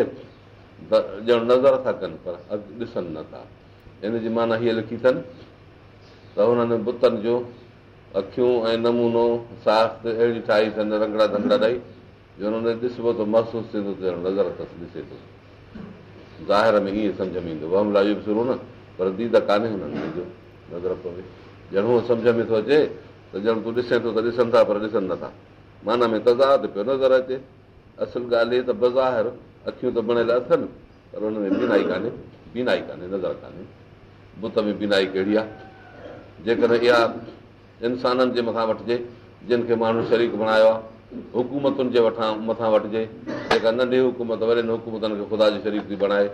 ته ڄڻ نظر ٿا ڪن پر ڏسن نه ٿا. ان جي معنيٰ هيء لکي اٿن ته هنن بتن جون اکيون ۽ نمونو ساخت اهڙي ٺاهي اٿن رنگڙا ڍنگڙا ڏئي جو انهن ڏي ڏسبو ته محسوس ٿيندو ته ڄڻ نظر اٿس ڏسي ٿو. ظاهر ۾ ائين سمجهه ۾ ايندو وهم لا يبصرون پر ديد ڪانهي هنن ۾ جو نظر پوي ڄڻ هونء سمجهه ۾ ٿو اچي ته ڄڻ تون ڏسين ٿو ته ڏسن ٿا پر ڏسن نٿا. معنيٰ ۾ تضاد پيو نظر اچي. اصل ڳالهه هيء ته بظاهر اکيون ته بڻيل اٿن پر ان ۾ بينائي ڪانهي، بينائي ڪانهي، نظر ڪانهي. بت ۾ بينائي ڪهڙي آهي؟ جيڪڏهن اها انسانن جي مٿان وٺجي، جن کي ماڻهن شريڪ بڻايو آهي، حڪومتن جي وٺان مٿان وٺجي، جيڪا ننڍي حڪومت وڏين حڪومتن کي خدا جو شريڪ ٿي بڻائي،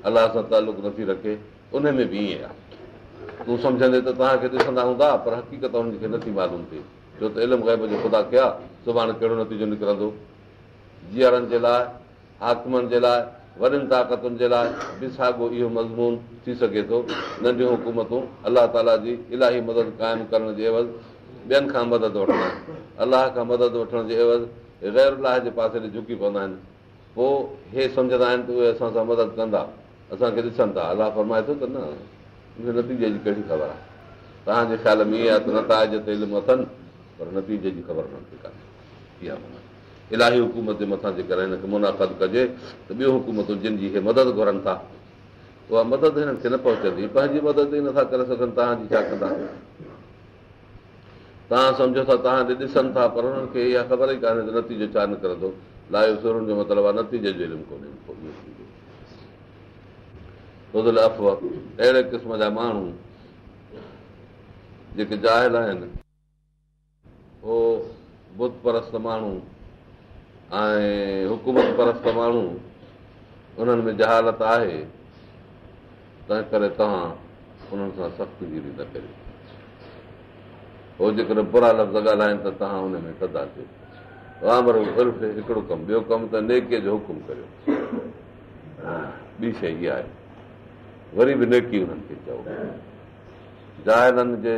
الله سان تعلق نٿي رکي، ان ۾ به ائين آهي. تون سمجهندين ته توهان کي ڏسندا هوندا، پر حقيقت انهن کي نٿي معلوم ٿئي، ڇو ته علم غيب جو خدا کي آهي، سڀاڻي ڪهڙو نتيجو نڪرندو. جيئرن جي لاء، حاڪمن جي لاء، وڏين طاقتن جي لاء به ساڳو اهو مضمون ٿي سگهي ٿو. ننڍيون حڪومتون الله تعاليٰ جي الاهي مدد قائم ڪرڻ جي عيوض ٻين کان مدد وٺندا آهن. الله کان مدد وٺڻ جي عيوض غير الله جي پاسي ڏي جهڪي پوندا آهن. پوء هي سمجهندا آهن ته اهي اسان سان مدد ڪندا، اسان کي ڏسن ٿا. الله فرمائي ٿو ته نه، ان کي نتيجي جي ڪهڙي خبر آهي؟ توهان جي خيال ۾ ائين آهي ته نتائج تي علم اٿن، پر نتيجي جي خبر انهن کي ڪانهي. اها معنيٰ الاهي حڪومت جي مٿان جيڪڏهن هن کي منعقد ڪجي ته ٻيون حڪومتون جن جي هي مدد گهرن ٿا، اها مدد هنن کي نه پهچندي. پنهنجي مدد ئي نٿا ڪري سگهن، توهان جي ڇا ڪندا؟ توهان سمجهو ٿا توهان ڏي ڏسن ٿا، پر هنن کي اها خبر ئي ڪانهي ته نتيجو ڇا نڪرندو. لا يبصرون جو مطلب آهي نتيجي جو علم ڪونهي. خذ العفو، اهڙي قسم جا ماڻهو جيڪي جاهل آهن، هو بت پرست ماڻهو ۽ حڪومت پرست ماڻهو، انهن ۾ جهالت آهي، تنهن ڪري توهان انهن سان سخت گيري نه ڪريو. هو جيڪڏهن برا لفظ ڳالهائن ته توهان ان ۾ ٿڌا ٿيو. وامر بالعرف هڪڙو ڪم، ٻيو ڪم ته نيڪيء جو حڪم ڪريو. ٻي شيء اها آهي وري به نيڪي انهن کي چئو. جاهلن جي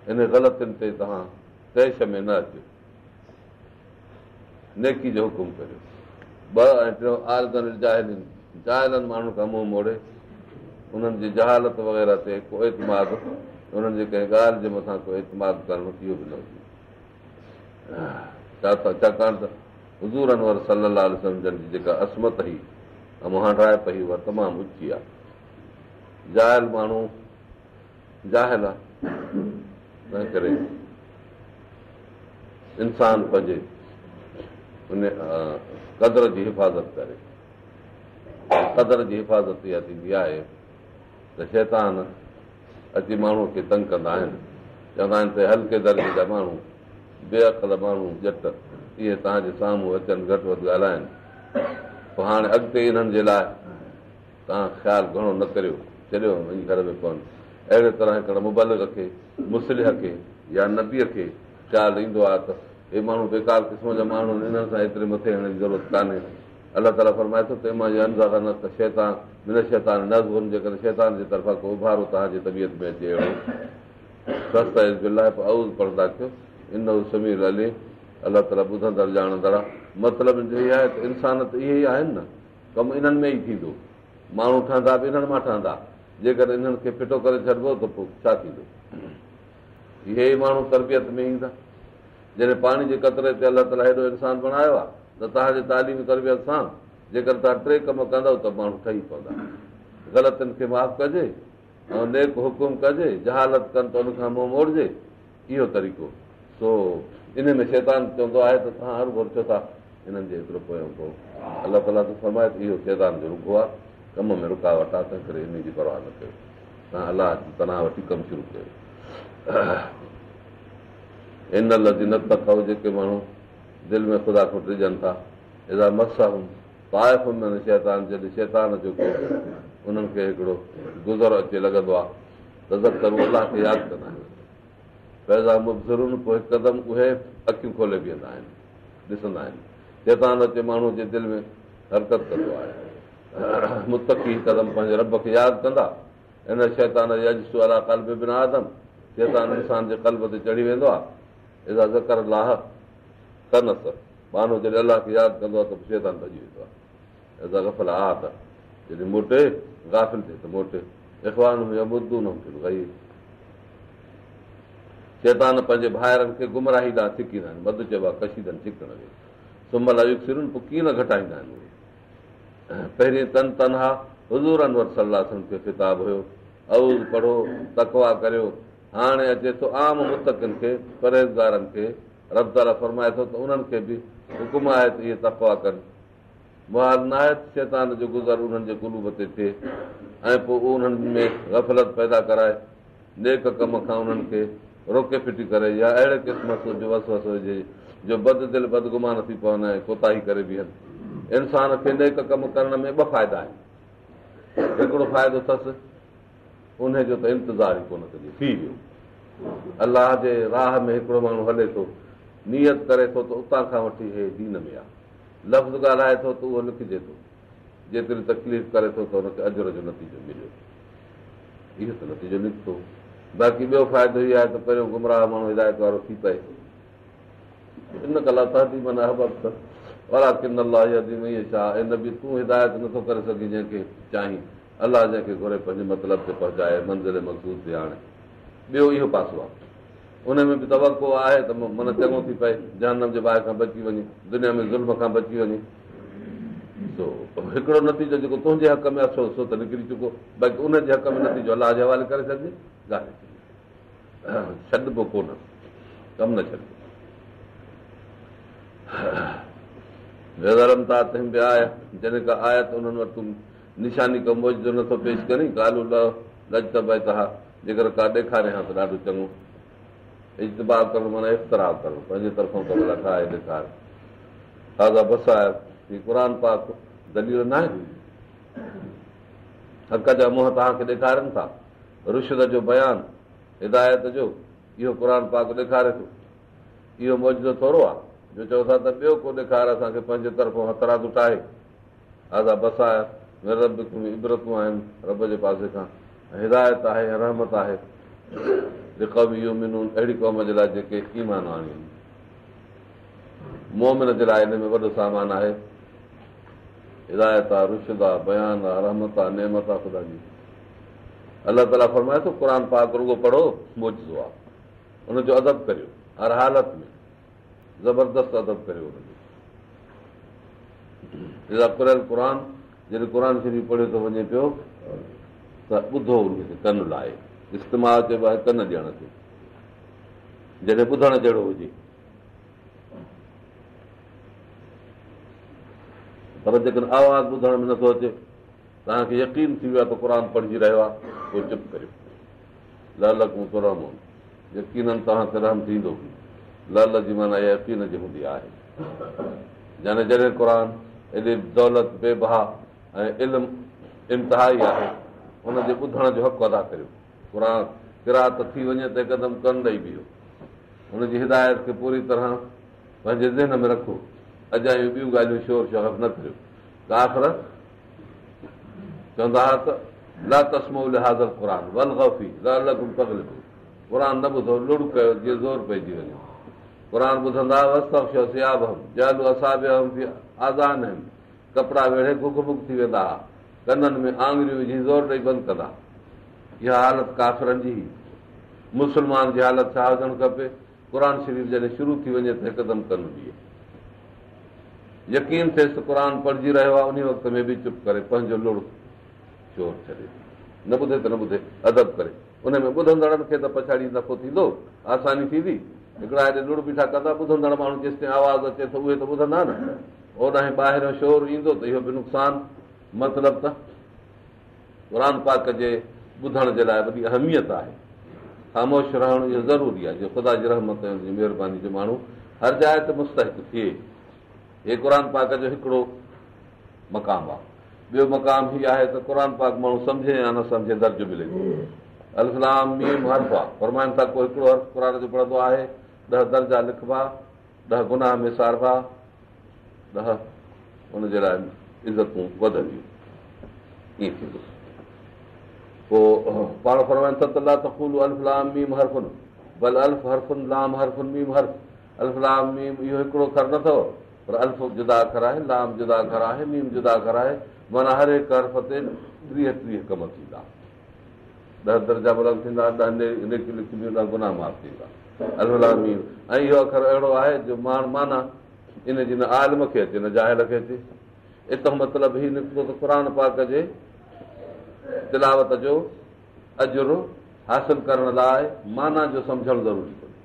ان غلطين تي توهان طيش ۾ نه اچو، نيڪي جو حڪم ڪريو. ٻه ۽ ٽيون اعرض عن الجاهلين، جاهلن ماڻهن کان منهن موڙي انهن جي جهالت وغيره تي ڪو اعتماد، انهن جي ڪنهن ڳالهه جي مٿان ڪو اعتماد ڪرڻ اهو به نه هجي. ڇاڪاڻ ته حضور انور صلي الله عليه وسلم جن جي جيڪا عصمت هئي ۽ مهانڊائپ هئي اها تمام اچي آهي. جاهل ماڻهو جاهل آ، تنهن ڪري انسان پنهنجي ان قدر جي حفاظت ڪري. قدر جي حفاظت اها ٿيندي آهي ته شيطان اچي ماڻهوء کي تنگ ڪندا آهن، چوندا آهن ته هلڪي درجي جا ماڻهو، بي عقل ماڻهو، ڄٽ، اهي توهان جي سامهون اچن گهٽ وڌ ڳالهائن، پوء هاڻي اڳتي انهن جي لاء توهان خيال گهڻو نه ڪريو، ڇڏيو وڃي گهر ۾ پون. اهڙي طرح هڪڙي مبلغ کي، مصلح کي يا نبيء کي خيال ايندو آهي ته هي ماڻهو بيڪار قسم جا ماڻهو آهن، انهن سان ايتري مٿي هڻڻ جي ضرورت ڪانهي. الله تعاليٰ فرمائي ٿو ته اما ينزغنڪ الشيطان من الشيطان نزغ جيڪڏهن شيطان جي طرفان ڪو اڀارو توهان جي طبيعت ۾ اچي اهڙو فاستعذ بالله پوء اعوذ پڙهندا ڪيو انه السميع العليم الله تعاليٰ ٻڌندڙ ڄاڻندڙ آهي. مطلب جو هي آهي ته انسان ته اهي ئي آهن نه، ڪم انهن ۾ ئي ٿيندو، ماڻهو ٺهندا به انهن مان ٺهندا، جيڪڏهن انهن کي ڦٽو ڪري ڇڏبو ته پوء ڇا ٿيندو؟ اهي ئي ماڻهو تربيت ۾ ايندا. جڏهن پاڻي جي قطري تي الله تعاليٰ هيڏو انسان بڻايو آهي ته توهان جي تعليم تربيت سان جيڪڏهن توهان ٽي ڪم ڪندؤ ته ماڻهو ٺهي پوندا. غلطين کي معاف ڪجي ۽ نيڪ حڪم ڪجي، جهالت ڪن ته ان کان منهن موڙجي، اهو طريقو. سو ان ۾ شيطان چوندو آهي ته توهان هروڀرو ڇو ٿا انهن جي ايترو پويان پئو. الله تعاليٰ ٿو فرمائي ته اهو شيطان جو رگهو آهي، ڪم ۾ رڪاوٽ آهي، تنهن ڪري ان جي پرواهه نه ڪيو، توهان الله جي پناهه وٺي ڪم شروع ڪيو. ان الذين اتقوا جيڪي ماڻهو دل ۾ خدا کان ڊڄن ٿا، اذا مسهم طائف من الشيطان جڏهن شيطان جو ڪو انهن کي هڪڙو گذر اچي لڳندو آهي، تذڪروا الله کي ياد ڪندا آهن، فاذا هم مبصرون پوء هڪدم اهي اکيون کولي بيهندا آهن، ڏسندا آهن. شيطان اچي ماڻهوء جي دل ۾ حرڪت ڪندو آهي. متقي هڪدم پنهنجي رب کي ياد ڪندا. ان الشيطان يجثو علي قلب ابن آدم شيطان انسان جي قلب تي چڙهي ويندو آهي. اذا ذڪر الله خنس ٻانهو جڏهن الله کي ياد ڪندو آهي ته پوء شيطان ڀڄي ويندو آهي. اذا غفل عاد جڏهن موٽي غافل ٿئي ته موٽي. اخوانهم يمدونهم في الغي شيطان پنهنجي ڀائرن کي گمراهي ڏانهن ڇڪيندا آهن. مد چئبو آهي ڪشيدن ڇڪڻ کي. ثم لا يقصرون پوء ڪيئن نه گهٽائيندا آهن اهي. پهرين تن تنها حضور انور صلي الله عليه وسلم کي خطاب هيو، اعوذ پڙهو، تقويٰ ڪريو. هاڻي اچي ٿو عام متقين کي، پرهيزگارن کي. رب تعاليٰ فرمائي ٿو ته انهن کي به حڪم آهي ته اهي تقويٰ ڪن. محال ناهي ته شيطان جو گذر انهن جي قلوب تي ٿئي ۽ پوء انهن ۾ غفلت پيدا ڪرائي نيڪ ڪم کان انهن کي روڪي ڦٽي ڪري يا اهڙي قسم جو وسوسو وجهي جو بد دل بدگمان ٿي پون ۽ ڪوتاهي ڪري بيهن. انسان کي نيڪ ڪم ڪرڻ ۾ ٻه فائدا آهن. هڪڙو فائدو اٿس انهي جو ته انتظار ئي ڪونه ڪجي ٿي ويو. الله جي راهه ۾ هڪڙو ماڻهو هلي ٿو، نيت ڪري ٿو ته اتان کان وٺي هي دين ۾ آ. لفظ ڳالهائي ٿو ته اهو لکجي ٿو. جيتري تڪليف ڪري ٿو ته ان کي اجر جو نتيجو مليو. اهو ته نتيجو نڪتو. باقي ٻيو فائدو هي آهي ته پهريون گمراهه ماڻهو هدايت وارو ٿي پئي. انڪ لا تهدي من احببت ولڪن الله يهدي من يشاء اي نبي تون هدايت نٿو ڪري سگهين جنهن کي چاهين الله جنهن کي گهري پنهنجي مطلب تي پهچائي منزل مقصود تي آڻي. ٻيو اهو پاسو آهي. ان ۾ به توقع آهي ته من چڱو ٿي پئي، جهنم جي باهه کان بچي وڃي، دنيا ۾ ظلم کان بچي وڃي. سو هڪڙو نتيجو جيڪو تنهنجي حق ۾ آهي سو ته نڪري چڪو، باقي ان جي حق ۾ نتيجو الله جي حوالي ڪري ڇڏجي، ڳالهه ڇڏبو ڪونه، ڪم نه ڇڏبو. واذا لم تاتهم بآية جڏهن ڪا آيت انهن وٽ تون نشاني ڪو معجزو نٿو پيش ڪرين، قالوا لولا اجتبيتها جيڪر ڪا ڏيکارين ها ته ڏاڍو چڱو. اجتباء ڪرڻ معنيٰ اختراع ڪرڻ، پنهنجي طرفان ڪا ڀلا ٺاهي ڏيکار. هذا بصائر، هي قرآن پاڪ دليل ناهي، حق جا منهن توهان کي ڏيکارين ٿا، رشد جو بيان، هدايت جو، اهو قرآن پاڪ ڏيکاري ٿو. اهو معجزو ٿورو آهي جو چئو ٿا ته ٻيو ڪو ڏيکار اسان کي پنهنجي طرفان هٿرادو ٺاهي. هذا بصائر من ربڪم عبرتون آهن رب جي پاسي کان ۽ هدايت آهي ۽ رحمت آهي لقوم يؤمنون اهڙي قوم جي لاء جيڪي ايمان آڻين. مؤمن جي لاء ان ۾ وڏو سامان آهي، هدايت آ، رشد آ، بيان آ، رحمت آ، نعمت آ خدا جي. الله تعاليٰ فرمائي ٿو قرآن پاڪ رڳو پڙهو معجزو آ، ان جو ادب ڪريو هر حالت ۾ زبردست ادب ڪريو ان جو. اذا قرئ القرآن جڏهن قرآن شريف پڙهيو ٿو وڃي پيو ته ٻڌو ان کي ڪن لائي، استماع چئبو آهي ڪن ڏيڻ کي، جڏهن ٻڌڻ جهڙو هجي. پر جيڪڏهن آواز ٻڌڻ ۾ نٿو اچي، توهان کي يقين ٿي ويو آهي ته قرآن پڙهجي رهيو آهي، پوء چپ ڪريو. لعلڪم ترحمون يقيناً توهان تي رحم ٿيندو. لعل جي معنيٰ يقين جي هوندي آهي، يعني جڏهن قرآن ايڏي دولت بي بها ۽ علم انتهائي آهي، ان جي ٻڌڻ جو حق ادا ڪريو. قرآن قرائت ٿي وڃي ته هڪدم ڪن ڏئي بيهو، ان جي هدايت کي پوري طرح پنهنجي ذهن ۾ رکو، اجايون ٻيون ڳالهيون شور شغف نه ڪريو. ڪافر چوندا هئا ته لا تسمعوا لهذا القرآن والغوا فيه لعلڪم تغلبون، قرآن نه ٻڌو، لڙ ڪيو جيئن زور پئجي وڃي. قرآن ٻڌندا واستغشوا ثيابهم جعلوا اصابعهم في آذانهم، ڪپڙا ويڙهي گگ مگ ٿي ويندا هئا، ڪنن ۾ آڱريون وجهي زور ڏئي بند ڪندا. اها حالت ڪافرن جي هئي. مسلمان جي حالت ڇا هجڻ کپي؟ قرآن شريف جڏهن شروع ٿي وڃي ته هڪدم ڪن ڏئي، يقين ٿئيس ته قرآن پڙهجي رهيو آهي، انهي وقت ۾ به چپ ڪري پنهنجو لڙ شور ڇڏي ڏئي، نه ٻڌي ته نه ٻڌي، ادب ڪري. ان ۾ ٻڌندڙن کي ته پڇاڙي نفعو ٿيندو، آساني ٿيندي. هڪڙا هيڏي لڙ بيٺا ڪندا، ٻڌندڙ ماڻهو جيستائين آواز اچي ٿو اهي ته ٻڌندا نه، اوڏانهن ٻاهريون شور ايندو ته اهو به نقصان. مطلب ته قرآن پاڪ جي ٻڌڻ جي لاء وڏي اهميت آهي. خاموش رهڻ اهو ضروري آهي جو خدا جي رحمت ۽ ان جي مهرباني جو ماڻهو هر جاء تي مستحق ٿئي. هي قرآن پاڪ جو هڪڙو مقام آهي. ٻيو مقام هي آهي ته قرآن پاڪ ماڻهو سمجهي يا نه سمجهي درجو ملي ٿو. الف لام ميم حرف آهي. فرمائن ٿا ڪو هڪڙو حرف قرآن جو پڙهندو آهي، 10 درجا لکبا، 10 گناهه ميساربا، 10 ان جي لاء عزتون وڌنديون. ائين ٿيندو. پوء پاڻ فرمائن ٿا ته لا تقولوا الف لام ميم حرف بل الف حرف لام حرف ميم حرف. الف لام ميم اهو هڪڙو اکر نه اٿو، پر الف جدا اکر آهي، لام جدا اکر آهي، ميم جدا اکر آهي، معنيٰ هر هڪ حرف تي 30 30 ڪم ٿيندا، 10 درجا بلند ٿيندا، 10 نيڪيون لکبيون، 10 گناهه معاف ٿيندا. الف لام ميم ۽ اهو اکر اهڙو آهي جو معنيٰ ان جي نه عالم کي اچي نه جاهل کي اچي. اتان مطلب هي نڪتو ته قرآن پاڪ جي تلاوت جو اجر حاصل ڪرڻ لاء معنيٰ جو سمجهڻ ضروري ڪونهي،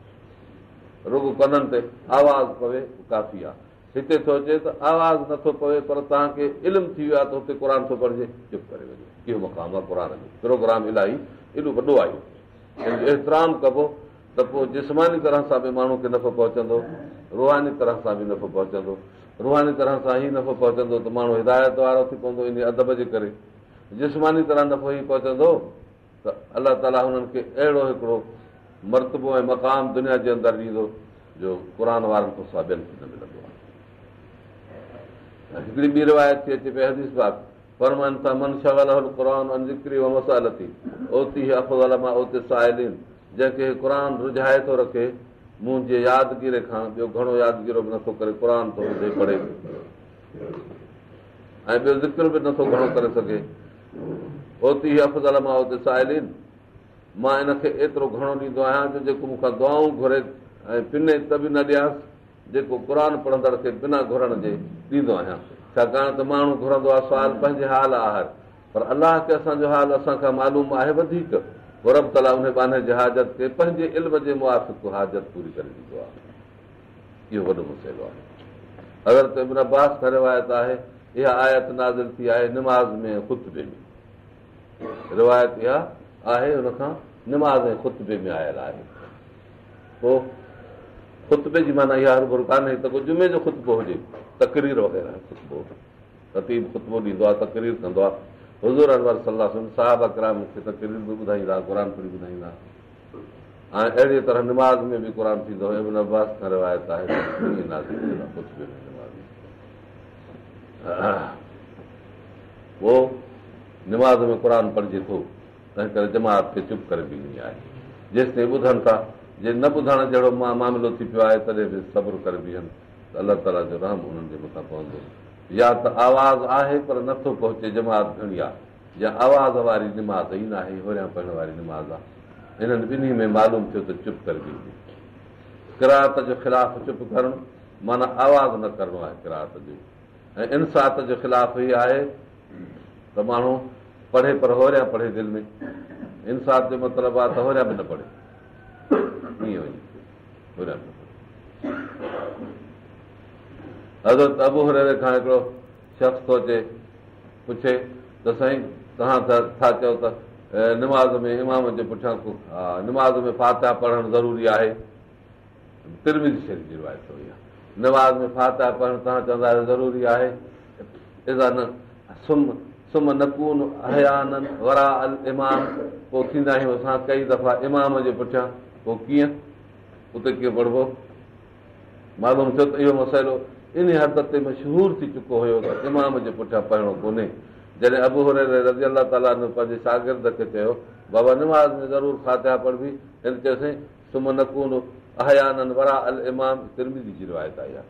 رڳو ڪنن تي آواز پوي ڪافي آهي. هتي ٿو اچي ته آواز نٿو پوي پر توهان کي علم ٿي ويو آهي ته هتي قرآن ٿو پڙهجي، چپ ڪري وڃو. اهو مقام آهي قرآن جو. پروگرام الاهي ايڏو وڏو آهي، ان جو احترام ڪبو ته پوء جسماني طرح سان به ماڻهو کي نفعو پهچندو، روحاني طرح سان به نفعو پهچندو. روحاني طرح سان هي نفعو پهچندو ته ماڻهو هدايت وارو ٿي پوندو ان ادب جي ڪري. جسماني طرح نفعو هي پهچندو ته الله تعاليٰ هنن کي اهڙو هڪڙو مرتبو ۽ مقام دنيا جي اندر ڏيندو جو قرآن وارن کان سواء ٻين کي نه ملندو آهي. هڪڙي ٻي روايت ٿي اچي پئي حديث پاڪ فرمائن ٿا من شغله القرآن عن ذڪري ومسألتي اعطيه افضل ما اعطي السائلين، جنهن کي قرآن رجهائي ٿو رکي منهنجي يادگيري کان ٻيو گهڻو يادگيرو به نٿو ڪري، قرآن ٿو ٻڌي پڙهي ۽ ٻيو ذڪر به نٿو گهڻو ڪري سگهي، اعطيه افضل ما اعطي السائلين، مان ان کي ايترو گهڻو ڏيندو آهيان جو جيڪو مون کان دعائون گهري ۽ پني ته به نه ڏيانس، جيڪو قرآن پڙهندڙ کي بنا گهرڻ جي ڏيندو آهيان. ڇاڪاڻ ته ماڻهو گهرندو آهي سوال پنهنجي حال آهر، پر الله کي اسان جو حال اسان کان معلوم آهي وڌيڪ، پوء رب تعاليٰ انهي ٻانهي جي حاجت کي پنهنجي علم جي موافق حاجت پوري ڪري ڏيندو آهي. اهو وڏو مسئلو آهي. حضرت ابن عباس کان روايت آهي اها آيت نازل ٿي آهي نماز ۾ خطبي ۾، روايت اها آهي ان کان نماز ۽ خطبي ۾ آيل آهي. پوء خطبي جي معنيٰ اها هرڀر ڪانهي ته ڪو جمعي جو خطبو هجي، تقرير وغيره خطبو، خطيب خطبو ڏيندو آهي، تقرير ڪندو آهي. حضور انور صلي الله عليه وسلم صحابه ڪرام کي تقرير به ٻڌائيندا، قرآن پڙهي ٻڌائيندا ۽ اهڙيء طرح نماز ۾ به قرآن ٿيندو هو. ابن عباس کان روايت آهي ته ائين نازل ٿيل آهي خطبي ۾ نماز ۾. پوء نماز ۾ قرآن پڙهجي ٿو، تنهن ڪري جماعت کي چپ ڪري بيهڻي آهي جيستائين ٻڌن ٿا. جي نه ٻڌڻ جهڙو معاملو ٿي پيو آهي تڏهن به صبر ڪري بيهن ته الله تعاليٰ جو رحم انهن جي مٿان پوندو. يا ته آواز آهي پر نٿو پهچي، جماعت گهڻي آهي، يا آواز واري نماز ئي ناهي، هوريان پڙهڻ واري نماز آهي. انهن ٻنهي ۾ معلوم ٿيو ته چپ ڪري بيهجي. قرائت جو خلاف چپ ڪرڻ معنيٰ آواز نه ڪرڻو آهي قرائت جو، ۽ انصات جو خلاف هي آهي ته ماڻهو پڙهي پر هوريان پڙهي دل ۾. انصات جو مطلب آهي ته هوريان به نه پڙهي، ائين وڃي هوريان به نه پڙهي. حضرت ابو هريره کان هڪڙو شخص ٿو اچي پڇي ته سائين توهان ٿا چئو ته نماز ۾ امام جي پٺيان نماز ۾ فاتحه پڙهڻ ضروري آهي. ترمذي شريف جي روايت اٿو اها. نماز ۾ فاتحه پڙهڻ توهان چوندا آهيو ضروري آهي. اذا ثم نڪون احيانا وراء الامام، پوء ٿيندا آهيون اسان ڪئي دفعا امام جي پٺيان، پوء ڪيئن اتي ڪيئن پڙهبو؟ معلوم ٿيو ته اهو مسئلو انهي حد تي مشهور ٿي چڪو هيو ته امام جي پٺيان پڙهڻو ڪونهي. جڏهن ابو هريره رضي الله تعالٰي عنه پنهنجي شاگرد کي چيو، بابا نماز ۾ ضرور فاتحه پڙهبي، هن چيو سائين ثم نڪون احيانا وراء الامام، ترمذي جي روايت آئي آهي،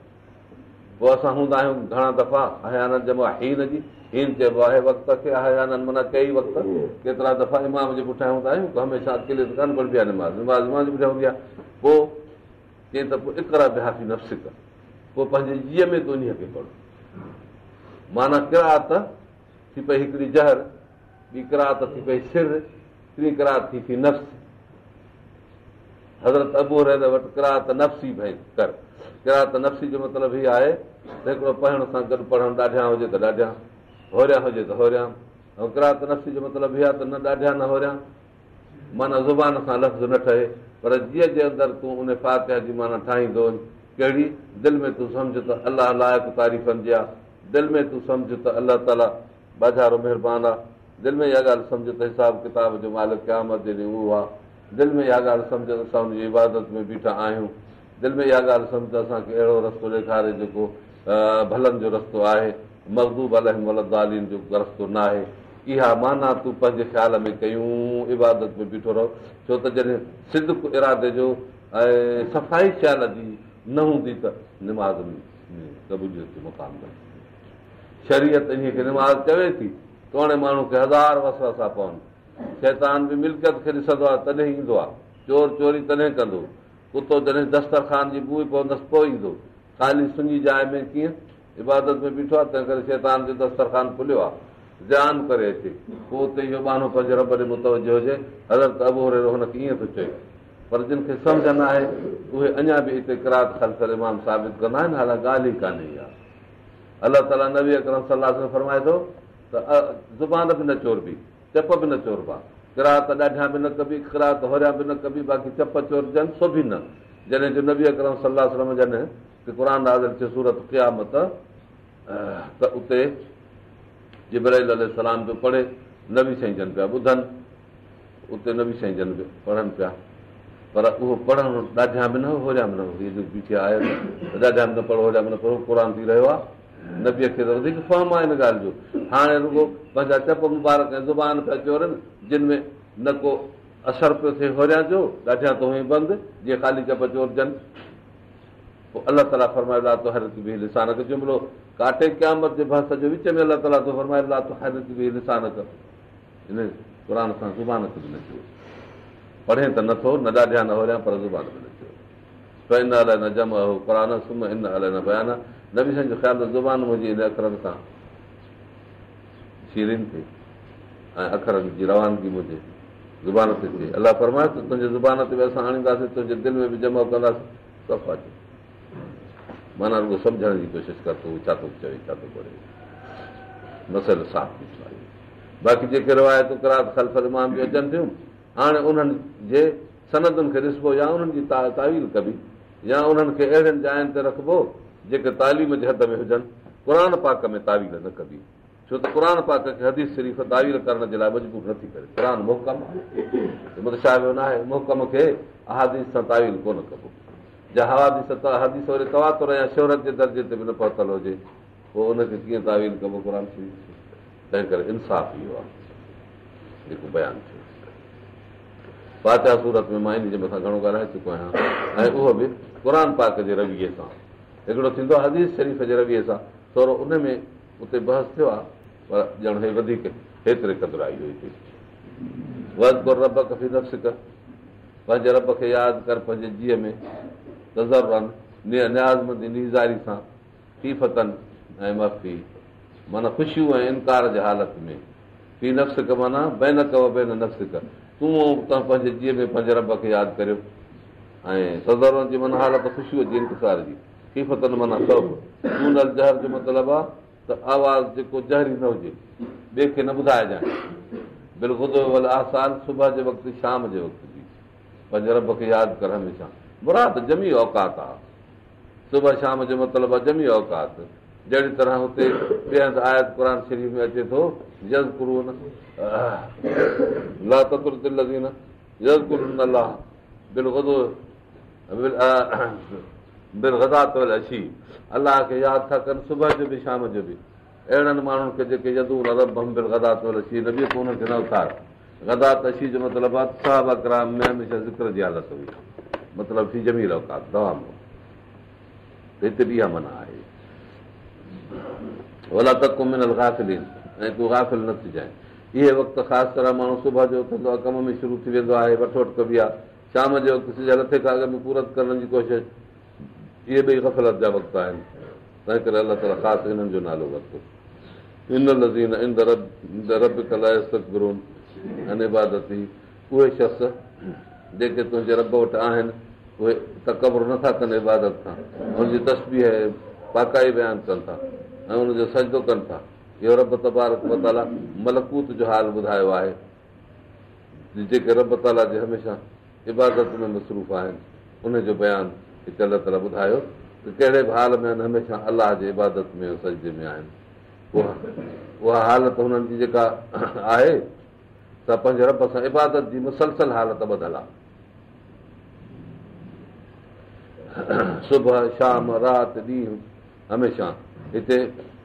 پوء اسان هوندا آهيون گهڻا دفعا، احيانا جمع حين جي، حين چئبو آهي وقت کي، احيانا معنيٰ ڪئي وقت، ڪيترا دفعا امام جي پٺيان هوندا آهيون، هميشه اڪيلي ته ڪانه پڙهبي آهي نماز، نماز امام جي پٺيان هوندي آهي. پوء چئي ته پوء اقرا بها في نفسڪ، پوء پنهنجي جيء ۾ تون انهيء کي پڙهه. معنيٰ قرائت ٿي پئي هڪڙي جهر، ٻي قرائت ٿي پئي سر، ٽين قرائت ٿي في نفس. حضرت ابو هريره وٽ قرائت نفسي ڀئي ڪر. قرائت نفسي جو مطلب هي آهي ته هڪڙو پڙهڻ سان گڏ پڙهڻ ڏاڍيان هجي ته ڏاڍيان، هوريان هجي ته هوريان. ۽ قرائت نفسي جو مطلب هي آهي ته نه ڏاڍيان نه هوريان، معنيٰ زبان سان لفظ نه ٺهي، پر جيء جي اندر تون ان فاتحه جي معنيٰ ٺاهيندو وڃ. ڪهڙي؟ دل ۾ تون سمجهه ته الله لائق تعريفن جي آهي. دل ۾ تون سمجهه ته الله تعاليٰ ٻاجهارو مهربان آهي. دل ۾ اها ڳالهه سمجهه ته حساب ڪتاب جو مالڪ قيامت جي ڏينهن اهو آهي. دل ۾ اها ڳالهه سمجهه ته اسان ان جي عبادت ۾ بيٺا آهيون. دل ۾ اها ڳالهه سمجهه ته اسان کي اهڙو رستو ڏيکاري جيڪو ڀلن جو رستو آهي، مغضوب عليهم ولا الضالين جو رستو ناهي. اها معنيٰ تون پنهنجي خيال ۾ ڪيون عبادت ۾ بيٺو رهو، ڇو ته جڏهن صدق ارادي جو ۽ صفائي خيال جي نه هوندي ته نماز ۾ قبوليت جو مقام نه ٿيندو. شريعت انهيء کي نماز چوي ٿي، توڻي ماڻهو کي هزار وسوسا پون. شيطان به ملڪيت کي ڏسندو آهي تڏهن ايندو آهي. چور چوري تڏهن ڪندو. ڪتو جڏهن دسترخوان جي بوء پوندس پوء ايندو. خالي سڃي جاء ۾ ڪيئن عبادت ۾ بيٺو آهي، تنهن ڪري شيطان جو دسترخوان کليو آهي، زيان ڪري اچي. پوء اتي اهو ٻانهو پنهنجي رب ڏي متوجه هجي. حضرت ابوهريره هن کي ائين ٿو چئي. پر جن کي سمجهه نه آهي اهي اڃا به هتي قرات خلف الامام ثابت ڪندا آهن، حالانڪه ڳالهه ئي ڪانهي اها. الله تعاليٰ نبي اڪرم صلي الله عليه وسلم فرمائي ٿو ته زبان به نه چوربي، چپ به نه چوربا، قرات ڏاڍيان به نه ڪبي، قرات هوريان به نه ڪبي، باقي چپ چورجن سو به نه. جڏهن جو نبي اڪرم صلي الله عليه وسلم جن تي قرآن نازل ٿيو سورت قيامت ته اتي جبرائيل عليه السلام پيو پڙهي، نبي سائين جن پيا ٻڌن، اتي نبي سائين جن به پڙهن پيا، پر اهو پڙهڻ ڏاڍيان به نه هو هوريان به نه هو. هي جو بيٺي آيت ته ڏاڍيان به نه پڙهو هوريان به نه پڙهو، قرآن ٿي رهيو آهي. نبيء کي ته وڌيڪ فهم آهي ان ڳالهه جو. هاڻي رڳو پنهنجا چپ مبارڪ ۽ زبان پيا چورن، جن ۾ نه ڪو اثر پيو ٿئي هوريان جو، ڏاڍيان ته هئي بند، جيئن خالي چپ چورجن. پوء الله تعاليٰ فرمايو لا تحرڪ به لسانڪ، جملو ڪاٽي قيامت جي بحث جو وچ ۾ الله تعاليٰ ٿو فرمائي لا تحرڪ به لسانڪ، ان قرآن سان زبان کي به نه چور. پڙهين ته نٿو، نه ڏاڍيان نه هوريان، پر زبان به نه چور. فإن علينا جمعه قرآنه ثم إن علينا بيانه. نبي سائين جو خيال ته زبان منهنجي ان اکرن سان شيرين ٿئي ۽ اکرن جي روانگي منهنجي زبان تي ٿئي. الله فرمايو ته تنهنجي زبان تي به اسان آڻينداسين، تنهنجي دل ۾ به جمع ڪنداسين. صفا چپ، معنيٰ رڳو سمجهڻ جي ڪوشش ڪر ته هو ڇا ٿو چوي، ڇا ٿو پڙهي. مسئلو صاف بيٺو آهي. باقي جيڪي روايتون قرات خلف الامام جون اچن ٿيون، هاڻي انهن جي سندن کي ڏسبو يا انهن جي تاويل ڪبي يا انهن کي اهڙين جاين تي رکبو جيڪي تعليم جي حد ۾ هجن. قرآن پاڪ ۾ تاويل نه ڪبي، ڇو ته قرآن پاڪ کي حديث شريف تاويل ڪرڻ جي لاء مجبور نٿي ڪري. قرآن محڪم آهي، متشابه نه آهي. محڪم کي احاديث سان تاويل ڪونه ڪبو. جا حديث وري تواتر يا شهرت جي درجي تي به نه پهتل هجي، پوء ان کي ڪيئن تاويل ڪبو قرآن شريف کي؟ تنهن ڪري انصاف اهو آهي جيڪو بيان ٿيو فاتحه سورت ۾. مان ان جي مٿان گهڻو ڳالهائي چڪو آهيان، ۽ اهو به قرآن پاڪ جي رويي سان. هڪڙو ٿيندو آهي حديث شريف جي رويي سان، ٿورو ان ۾ اتي بحث ٿيو آهي، پر ڄڻ هي وڌيڪ هيتري قدر آئي هئي هتي. واذڪر ربڪ في نفسڪ، پنهنجي رب کي ياد ڪر پنهنجي جيء ۾، تضرعا، نيازمندي نيزاري سان، خيفة ۽ مخفي معنيٰ خشوع ۽ انڪار جي حالت ۾، في نفسڪ معنيٰ بينڪ و بين نفسڪ، تون ۽ پنهنجي جيء ۾ پنهنجي رب کي ياد ڪريو، ۽ تضرعا جي معنيٰ حالت خشوع جي انڪسار جي، خيفة معنيٰ خوف، دون الجهر جو مطلب آهي ته آواز جيڪو جهري نه هجي، ٻئي کي نه ٻڌائجانء، بالغدو والآصال، صبح جي وقت شام جي وقت به پنهنجي رب کي ياد ڪر هميشه، مراد جميع اوقات آهي. صبح شام جو مطلب آهي جميع اوقات. جهڙي طرح هتي ٻئي هنڌ آيت قرآن شريف ۾ اچي ٿو يذڪرون لا تطرد الذين يذڪرون الله بالغدو بالغداة والعشي، الله کي ياد ٿا ڪن صبح جو به شام جو به. اهڙن ماڻهن کي جيڪي يدعون ربهم بالغداة والعشي، نبي تون انهن کي نه اٿار. غداة عشي جو مطلب آهي صحابه ڪرام ۾ هميشه ذڪر جي حالت هئي، مطلب في جميع الاوقات دوام هو. هتي به اها معنيٰ آهي. ولا تڪن من الغافلين، ۽ تون غافل نه ٿجانء. اهي وقت خاص طرح ماڻهو صبح جو اٿندو آهي، ڪم ۾ شروع ٿي ويندو آهي، وٺ وٺ ڪبي آهي. شام جي وقت سج لٿي کان اڳ ۾ پورت ڪرڻ جي ڪوشش، اهي ٻئي غفلت جا وقت آهن. تنهن ڪري الله تعاليٰ خاص انهن جو نالو ورتو. ان الذين عند ربڪ لا يستڪبرون عن عبادته، اهي شخص جيڪي تنهنجي رب وٽ آهن اهي تڪبر نٿا ڪن عبادت کان، ان جي تسبيح ۽ پاڪائي بيان ڪن ٿا ۽ ان جو سجدو ڪن ٿا. اهو رب تبارڪ وتعاليٰ ملڪوت جو حال ٻڌايو آهي، جيڪي رب تعاليٰ جي هميشه عبادت ۾ مصروف آهن، ان جو بيان هتي الله تعاليٰ ٻڌايو ته ڪهڙي به حال ۾ آهن هميشه الله جي عبادت ۾ سجدي ۾ آهن. اها حالت هنن جي جيڪا آهي سا پنهنجي رب سان عبادت جي مسلسل حالت ٻڌل آهي. صبح شام رات ڏينهن هميشه. هتي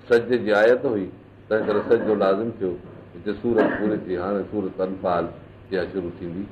سجدي جي آيت هئي، تنهن ڪري سجدو لازم ٿيو. هتي سورت پوري ٿي، هاڻي سورت انفال اها شروع ٿيندي.